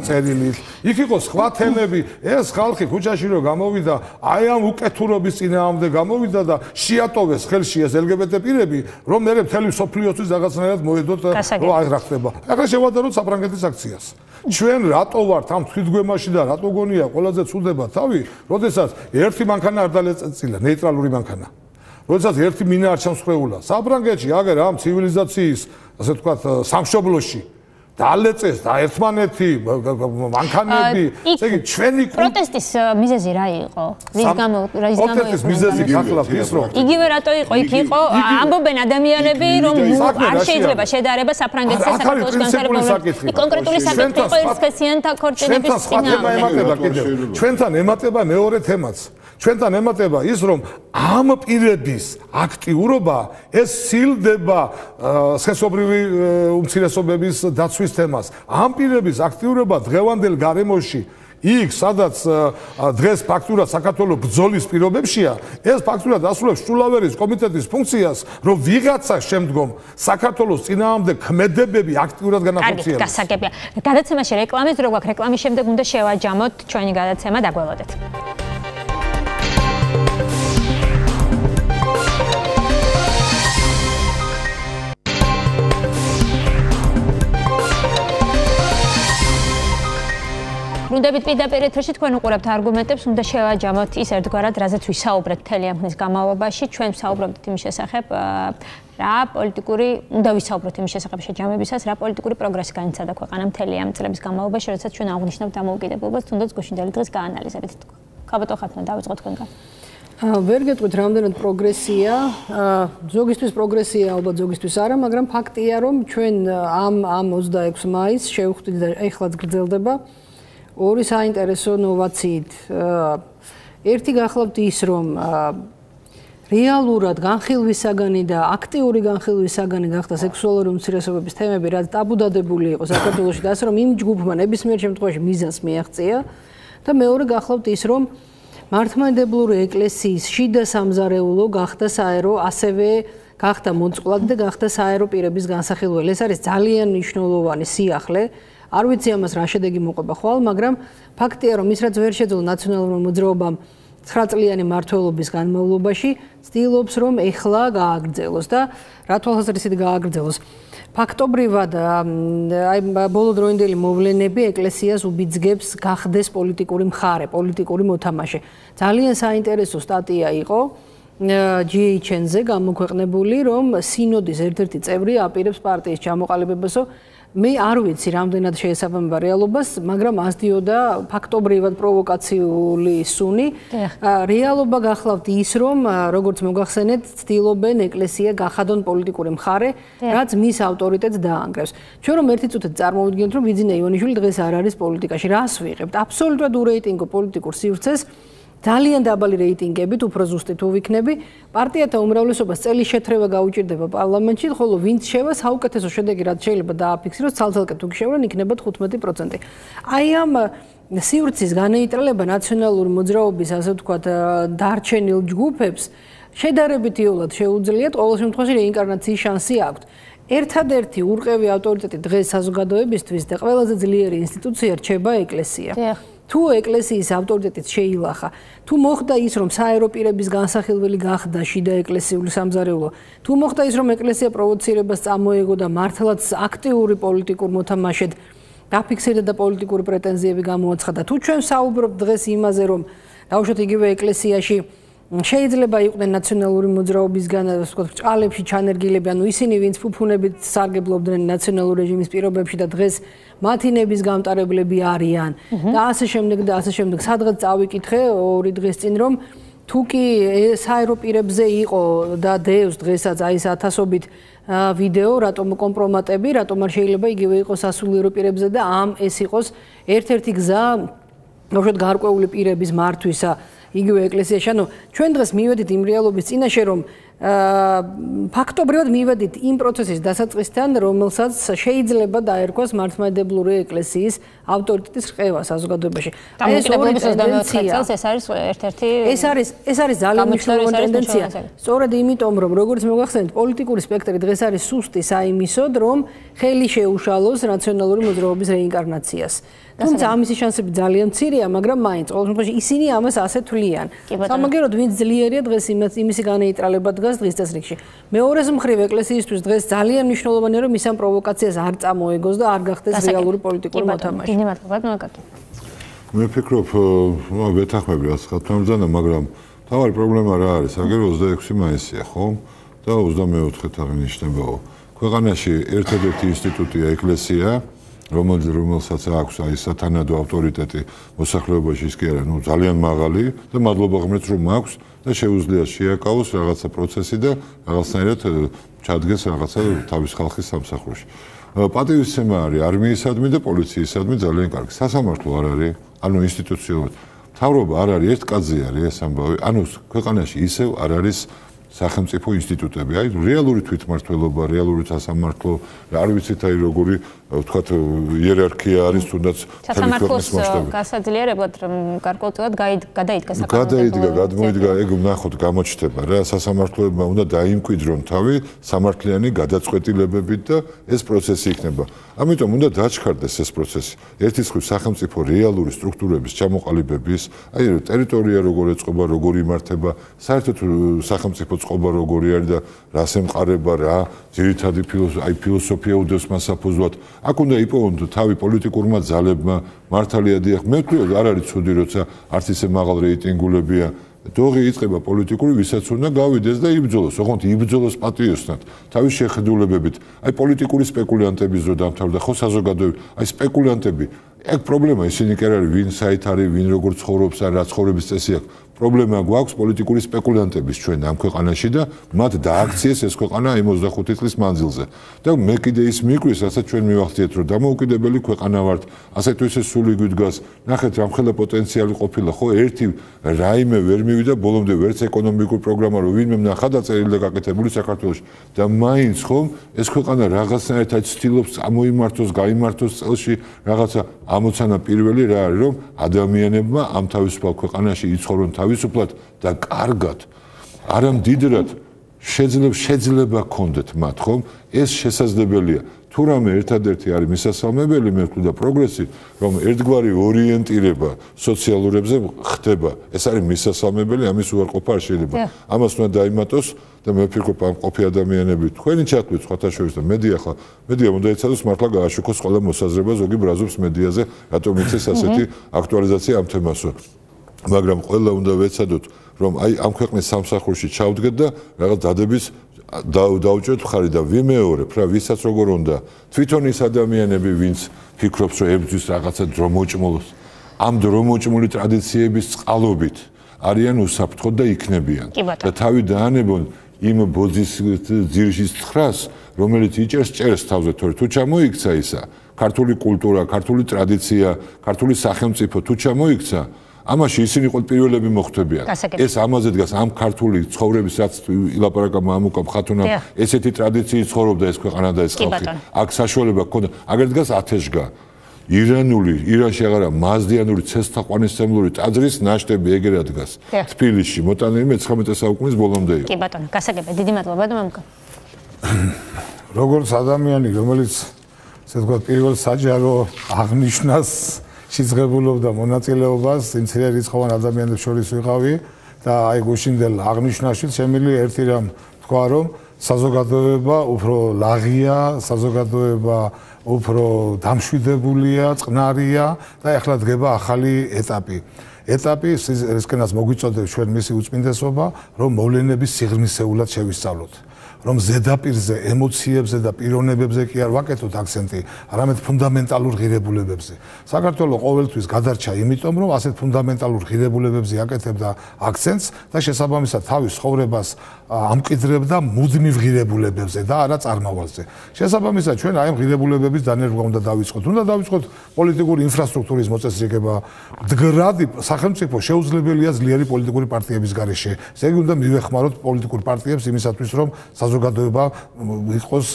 წერილით. იქ იყო სხვა თემები, ეს ხალხი ქუჩაში რო გამოვიდა, აი ამ უკეთურობის წინააღმდეგ გამოვიდა და შეატოვეს ხელში ეს LGBT პირები, რომ მე მთელი სოფლიოსთვის რაღაცნაირად მოედოთ რომ აი რა ხდება. ახლა შევადაროთ საფრანგეთის აქციას. ჩვენ რატო ვართ ამ თვითგვემაში და რატო გონია ყველაზე ცუდება თავი, როდესაც ერთი მანქანა არ დალეწილა, ნეიტრალური მანქანა. როდესაც ერთი მინა არ ჩამსხვრეულა. საფრანგეთში აგერ ამ ცივილიზაციის, ასე ვთქვათ, სამშობლოში დაალეწეს და ერთმანეთი მანქანები, ესე იგი ჩვენი პროტესტის მიზეზი რა იყო? რის გამო პროტესტის მიზეზი გახლავთ ის რომ იგივე რატო იყო? იქ იყო ამბობენ ადამიანები რომ არ შეიძლება შედარება საფრანგეთსა და საქართველოს განსაკუთრებით კონკრეტული საკითხი იყო ერისქესიანთა ქორწინების წინააღმდეგ. ჩვენთან ემატება მეორე თემაც. ჩვენთან ემატება ის რომ ამ პირების აქტიურობა ეს სილდება სქესობრივი უმცირესობების დაცვის თემას. ამ პირების აქტიურობა დღევანდელ გარემოში იქ სადაც დღეს ფაქტურად საქართველოს ბრძოლის პირობებშია, ეს ფაქტურად ასრულებს შულავერის კომიტეტის ფუნქციას, რომ ვიღაცა შემდგომ საქართველოს წინააღმდეგ ქმედებები აქტიურად განახორციელოს. კარგი, გასაგებია. გადაცემაში რეკლამის დრო გვაქვს, რეკლამის შემდეგ უნდა შევაჯამოთ ჩვენი გადაცემა, დაგველოდეთ. ბრუნდებით პირდაპირ ეთერში თქვენ უყურებთ არგუმენტებს, უნდა შევაჯამოთ ის ერთგვარად, რაზეც ვისაუბრეთ მთელი ამ ხნის განმავლობაში. ჩვენ ვსაუბრობთ იმის შესახებ, რა პოლიტიკური, უნდა ვისაუბროთ იმის შესახებ შეჯამებისას, რა პოლიტიკური პროგრესი განიცადა ქვეყანამ მთელი ამ წლების განმავლობაში, როდესაც ჩვენ აღნიშნავთ დამოუკიდებლობას, თუნდაც გუშინდელი დღეს გაანალიზებით. ხაბატონ ხათუნა, დავიწყოთ თქვენგან. ვერ გეტყვით რამდენად პროგრესია, ზოგისთვის პროგრესია, ალბათ ზოგისთვის არა, მაგრამ ფაქტია, რომ ჩვენ ამ 26 მაისს შევხვდით და ეხლაც გრძელდება ორი საინტერესო ნოვაციით. ერთი გახლავთ ის, რომ რეალურად განხილვისაგანი და აქტიური განხილვისაგანი გახდა სექსუალური უმცირესობების თემები, რაც ტაბუდადებული იყო საქართველოში და ასე რომ იმ ჯგუფმა ნებისმიერ შემთხვევაში მიზანს მიაღწია და მეორე გახლავთ ის, რომ მართლმადიდებლური ეკლესიის შიდა სამზარეულო გახდა საერო, ასევე გახდა მოწყვლადი და გახდა საერო პირების განსახილველი. ეს არის ძალიან მნიშვნელოვანი სიახლე. არ ვიცი ამას რა შედეგი მოყვება ხვალ, მაგრამ ფაქტია, რომ ის რაც ვერ შეძლო ნაციონალურმა მოძრაობამ 9 წლიანი მმართველობის განმავლობაში, ცდილობს, რომ ეხლა გააგრძელოს და რა თვალსაზრისით გააგრძელოს. ფაქტობრივად, აი ბოლოდროინდელი მოვლენები ეკლესიას უბიძგებს გახდეს პოლიტიკური მხარე, პოლიტიკური მოთამაშე. ძალიან საინტერესო სტატია იყო GHN-ზე გამოქვეყნებული, რომ სინოდის ერთ-ერთი წევრი აპირებს პარტიის ჩამოყალიბებასო. მე არ ვიცი რამდენად შეესაბამება რეალობას, მაგრამ ასდიოდა ფაქტობრივად პროვოკაციული სუნი. რეალობა გახლავთ ის, რომ როგორც მოგახსენეთ, ცდილობენ ეკლესია გახადონ პოლიტიკური მხარე, რაც მის ავტორიტეტს დაანგრევს. ჩვენ რომ ერთი წუთით წარმოვიდგინოთ, რომ ბიძინა ივანიშვილი დღეს არ არის პოლიტიკაში, რას ვიღებთ? აბსოლუტურად ურეიტინგო პოლიტიკურ სივრცეს. ძალიან დაბალი რეიტინგებით, უფრო ზუსტი თუ ვიქნები, პარტიათა უმრავლესობას წელი შეთრევა გაუჭირდება პარლამენტში, ხოლო ვინც შევა, საუკეთესო შედეგი რაც შეიძლება დააფიქსიროს, ცალ-ცალკე თუ გიშევრენ, იქნება 15%. აი ამ სივრცის განეიტრალება ნაციონალური მოძრაობის, ასე ვთქვათ, დარჩენილ ჯგუფებს შედარებით იოლად შეუძლიათ, ყოველ შემთხვევაში რეინკარნაციის შანსი აქვთ. ერთადერთი ურყევი ავტორიტეტი დღეს საზოგადოებისთვის და ყველაზე ძლიერი ინსტიტუცია რჩება ეკლესია. თუ ეკლესიის ავტორიტეტიც შეილახა, თუ მოხდა ის, რომ საერო პირების განსახილველი გახდა შიდა ეკლესიური სამზარეულო, თუ მოხდა ის, რომ ეკლესია პროვოცირებას წამოეგო და მართლაც აქტიური პოლიტიკურ მოთამაშედ დაფიქსირდა და პოლიტიკური პრეტენზიები გამოაცხადა, თუ ჩვენ საუბრობთ დღეს იმაზე, რომ დავუშვათ იგივე ეკლესიაში შეიძლება იყვნენ ნაციონალური მოძრაობისგან, ასე ვთქვათ, ბრჭყალებში ჩანერგილები, ანუ ისინი, ვინც ფუფუნებით სარგებლობდნენ ნაციონალურ რეჟიმის პირობებში და დღეს მათი ნების გამტარებლები არიან და ასე შემდეგ და ასე შემდეგ. სადღაც წავიკითხე ორი დღის წინ, რომ თუ კი საერო პირებზე იყო და დევს დღესაც აი ეს ათასობით ვიდეო, რატომ კომპრომატები, რატომ არ შეიძლება იგივე იყოს სასულიერო პირებზე და ეს იყოს ერთ-ერთი გზა, უბრალოდ გარკვეული პირების მართვისა იგივე ეკლესიაში. ანუ ჩვენ დღეს მივედით იმ რეალობის წინაშე, რომ ფაქტობრივად მივედით იმ პროცესის დასაწყისთან, რომელსაც შეიძლება დაერქვას მართლმადიდებლური ეკლესიის ავტორიტეტის რყევა საზოგადოებაში. ეს ორი ტენდენცია, ეს არის ერთ-ერთი ეს არის ძალიან მნიშვნელოვანი ტენდენცია. სწორედ იმიტომ, რომ როგორც მოგახსენეთ, პოლიტიკური სპექტრი დღეს არის სუსტი საიმისოდ, რომ ხელი შეუშალოს ნაციონალური მოძრაობის რეინკარნაციას. თუმცა ამისი შანსები ძალიან მცირეა, მაგრამ მაინც ყოველ შემთხვევაში ისინი ამას ასე თვლიან. სამაგეროდ ვინც ძლიერია დღეს იმისი განეიტრალება დგას დღის წესრიგში. მეორეს მხრივ ეკლესიისთვის დღეს ძალიან მნიშვნელოვანია, რომ ის ამ პროვოკაციას არ წამოეგოს და არ გახდეს რეალური პოლიტიკური მოთამაშე. მე ვფიქრობ, ვეთანხმები რაც ხათუნა ბრძანა, მაგრამ თავარი პრობლემა რა არის? აგერ 26 მაისია, ხო? და 24-ით აღინიშნებაო. ქვეყანაში ერთადერთი ინსტიტუტია ეკლესია, რომელსაც აქვს აი სათანადო ავტორიტეტი მოსახლეობაში ის კი არა, ნუ ძალიან მაღალი და მადლობა ღმერთს რომ აქვს და შეუძლია შეაკავოს რაღაცა პროცესი და რაღაცნაირად ჩადგეს რაღაცა თავის ხალხის სამსახურში. პატივისცემა არის არმიისადმი და პოლიციისადმი ძალიან კარგი. სასამართლო არ არის, ანუ ინსტიტუციურად. მთავრობა არ არის, ერთ კაცზე არის ეს ამბავი. ანუ ქვეყანაში ისევ არ არის სახელმწიფო ინსტიტუტები. აი რეალური თვითმმართველობა, რეალური სასამართლო, არ ვიცით აი როგორი ვთქვათ იერარქია არის თუნდაც სასამართლოს გასაძლიერებლად გარკვეულწილად გადაიდგა საკანონმდებლო გადმოიდგა ეგ ვნახოთ გამოჩნდება რა სასამართლოებმა უნდა დაიმკვიდრონ თავი სამართლიანი გადაწყვეტილებებით და ეს პროცესი იქნება. ამიტომ უნდა დაჩქარდეს ეს პროცესი. ერთის მხრივ სახელმწიფო რეალური სტრუქტურების ჩამოყალიბების, აი ტერიტორია როგორ ეწყობა, როგორ იმართება, საერთოდ სახელმწიფო წყობა როგორი არის და რას ემყარება რა, ძირითადი ფილოსოფია უდევს მას საფუძვლად. აქ უნდა იპოვონ თავი პოლიტიკურმა ძალებმა, მართალია დიახ, მე ვთქვი არ არის ცუდი როცა არც ისე მაღალ რეიტინგულებია. დოღი იწყება პოლიტიკური, ვისაც უნდა გავიდეს და იბრძოლოს, ოღონდ იბრძოლოს პატიოსნად, თავის შეხედულებებით. აი პოლიტიკური სპეკულანტების დრო დამთავრდა ხო საზოგადოება, აი სპეკულანტები. ეგ პრობლემა ისინი კი არ არის, ვინ საით არის, ვინ როგორ ცხოვრობს, რა ცხოვრების წესი აქვს. პრობლემა გვაქვს პოლიტიკური სპეკულანტების ჩვენ ამ ქვეყანაში და მათ დააქციეს ეს ქვეყანა 25 წლის მანძილზე. და მე კიდე ის მიკვრის, რასაც ჩვენ მივახციეთ, რომ დამოუკიდებელი ქვეყანა ვართ, ასე თუ ისე სული გვიდგას. ნახეთ, რამხელა პოტენციალი ყოფილა, ხო, ერთი რაიმე ვერ მივიდა ბოლომდე ვერც ეკონომიკური პროგრამა, რომ ვინმე ნახა დაწერილი და გაკეთებული საქართველოში. და მაინც ხომ ეს ქვეყანა რაღაცნაირად ცდილობს წამოიმართოს, გაიმართოს წელში რაღაცა ამოცანა პირველი რა არის, რომ ადამიანებმა ამ თავისუფალ ქვეყანაში იცხოვრონ თავისუფლად და კარგად, არა მდიდრად, შეიძლება გქონდეთ მათ, ხომ? ეს შესაძლებელია. თუ რამე ერთადერთი არის მისასალმებელი, მე ვთქვი და პროგრესი, რომ ერთგვარი ორიენტირება სოციალურებზე ხდება. ეს არის მისასალმებელი, ამის უარყოფა არ შეიძლება. ამას უნდა დაიმატოს და მე ვფიქრობ, ამ ყოფი ადამიანები თქვენი ჩათვლით სხვათა შორის და მედია უნდა ეცადოს მართლა გააშუქოს ყველა მოსაზრება, ზოგი ბრაზობს მედიაზე, რატომ იცეს ასეთი აქტუალიზაცია ამ თემასო. მაგრამ ყველა უნდა ვეცადოთ, რომ აი ამ ქვეყნის სამსახურში ჩავდგეთ და რაღაც დადების დაუჭერთ მხარი და ვიმეორებ რა, ვისაც როგორ უნდა. თვითონ ის ადამიანები, ვინც ფიქრობს, რომ ებრძვის რაღაცა დრომოჭმულს, ამ დრომოჭმული ტრადიციების წყალობით არიან უსაფრთხოდ და იქნებიან. და თავი დაანებონ იმ ბოძის ძირშის ცხრას, რომელიც იჭერს თავზე, თორე თუ ჩამოიქცა ისა, ქართული კულტურა, ქართული ტრადიცია, ქართული სახელმწიფო თუ ჩამოიქცა, ამაში ისინი ყოველ პირველები მოხვდებიან. ეს ამაზე დგას ამ ქართული ცხოვრების რაც ილაპარაკა მამუკამ ხათუნამ, ესეთი ტრადიციით ცხოვრობდა ეს ქვეყანა და ეს ხალხი. აქ საშუალება ჰქონდა, აგერ დგას ათეშგა. ირანში აღარა მაზდიანური ცეცხლთაყვანისმცემლური ტაძრის ნაშთები ეგერა დგას. თბილისში მოტანილი მე-19 საუკუნის ბოლომდე იყო. კი ბატონო, გასაგებია, დიდი მადლობა და მამუკა. როგორც ადამიანი, რომელიც ესე ვთქვათ, პირველ საჯარო აღნიშვნას შეძღებულობდა მონაწილეობას იმ ცირერიცხოვან ადამიანებს შორის ვიყავი და აი გუშინდელ აღნიშვნაში შემიძლია ერთი რამ თქვა, რომ საზოგადოება უფრო ლაღია, საზოგადოება უფრო დამშვიდებულია, წყნარია და ახლა დგება ახალი ეტაპი. რისკენაც მოგვიწოდებს ჩვენ მისი უწმინდესობა, რომ მოვლენების სიღრმისეულად შევისწავლოთ. რომ ზედაპირზე, ემოციებზე და პიროვნებებზე კი არ ვაკეთოთ აქცენტი, არამედ ფუნდამენტალურ ღირებულებებზე. საქართველოს ყოველთვის გადარჩა იმიტომ, რომ ასეთ ფუნდამენტალურ ღირებულებებზე აკეთებდა აქცენტს და შესაბამისად თავის ცხოვრებას ამკვიდრებდა მუდმივ ღირებულებებზე და არა წარმავალზე. შესაბამისად ჩვენ აი ამ ღირებულებების დანერგვა უნდა დავიწყოთ. უნდა დავიწყოთ პოლიტიკური ინფრასტრუქტურის მოწესრიგება. მდგრადი სახელმწიფო შეუძლებელია ძლიერი პოლიტიკური პარტიების გარეშე. ესე იგი უნდა მივეხმაროთ პოლიტიკურ პარტიებს იმისათვის, რომ საზოგადოება იყოს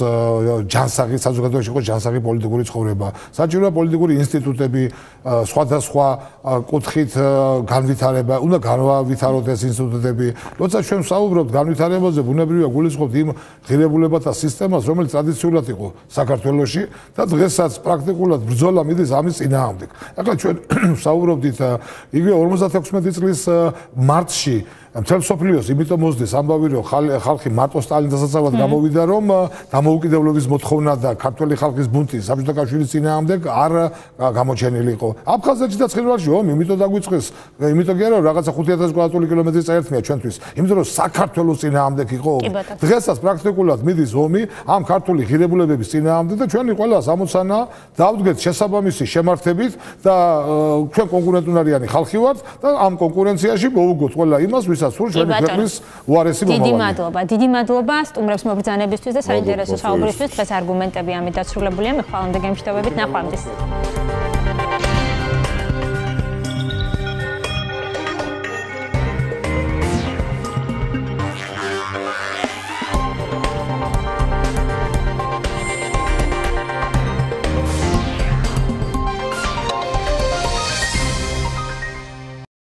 ჯანსაღი, საზოგადოებაში იყოს ჯანსაღი პოლიტიკური ცხოვრება. საჭიროა პოლიტიკური ინსტიტუტები, სხვადასხვა კუთხით განვითარება, უნდა განავითაროთ ეს ინსტიტუტები. როცა ჩვენ ვსაუბრობთ განვითარებაზე, ბუნებრივია გულისხმობთ იმ ღირებულებათა სისტემას, რომელიც ტრადიციულად იყო საქართველოში და დღესაც პრაქტიკულად ბრძოლა მიდის ამის წინააღმდეგ. ახლა ჩვენ ვსაუბრობდით იგივე 56 წლის მარტში მთელ მსოფლიოს იმიტომ მოსდეს ამბავი, რომ ხალხი მარტო სტალინზესაც დასაცავად გამოვიდა, რომ დამოუკიდებლობის მოთხოვნა და ქართველი ხალხის ბუნტი საბჭოთა კავშირის წინააღმდეგ არ გამოჩენილი იყო. აფხაზეთში და ცხინვალში ომი, იმიტომ დაგვიწყეს, იმიტომ კი არა, რაღაცა 5000 კვადრატული კილომეტრი წაერთმია ჩვენთვის, იმიტომ რომ საქართველოს წინააღმდეგ იყო ომი. დღესაც პრაქტიკულად მიდის ომი ამ ქართული ღირებულებების წინააღმდეგ და ჩვენი ყველა ამოცანა დავდგეთ შესაბამისი შემართებით და ჩვენ კონკურენტუნარიანი ხალხი ვართ და ამ კონკურენციაში მოვუგოთ ყველა იმას, ვისაც სურს ჩვენი ქვეყნის უარესი მომავალი. დიდი მადლობა სტუმრებს მობრძანებისთვის და საინტერესო საუბრისთვის. დღეს არგუმენტები ამით დასრულებულია. მე ხვალამდე გემშვიდობებით, ნახვამდის.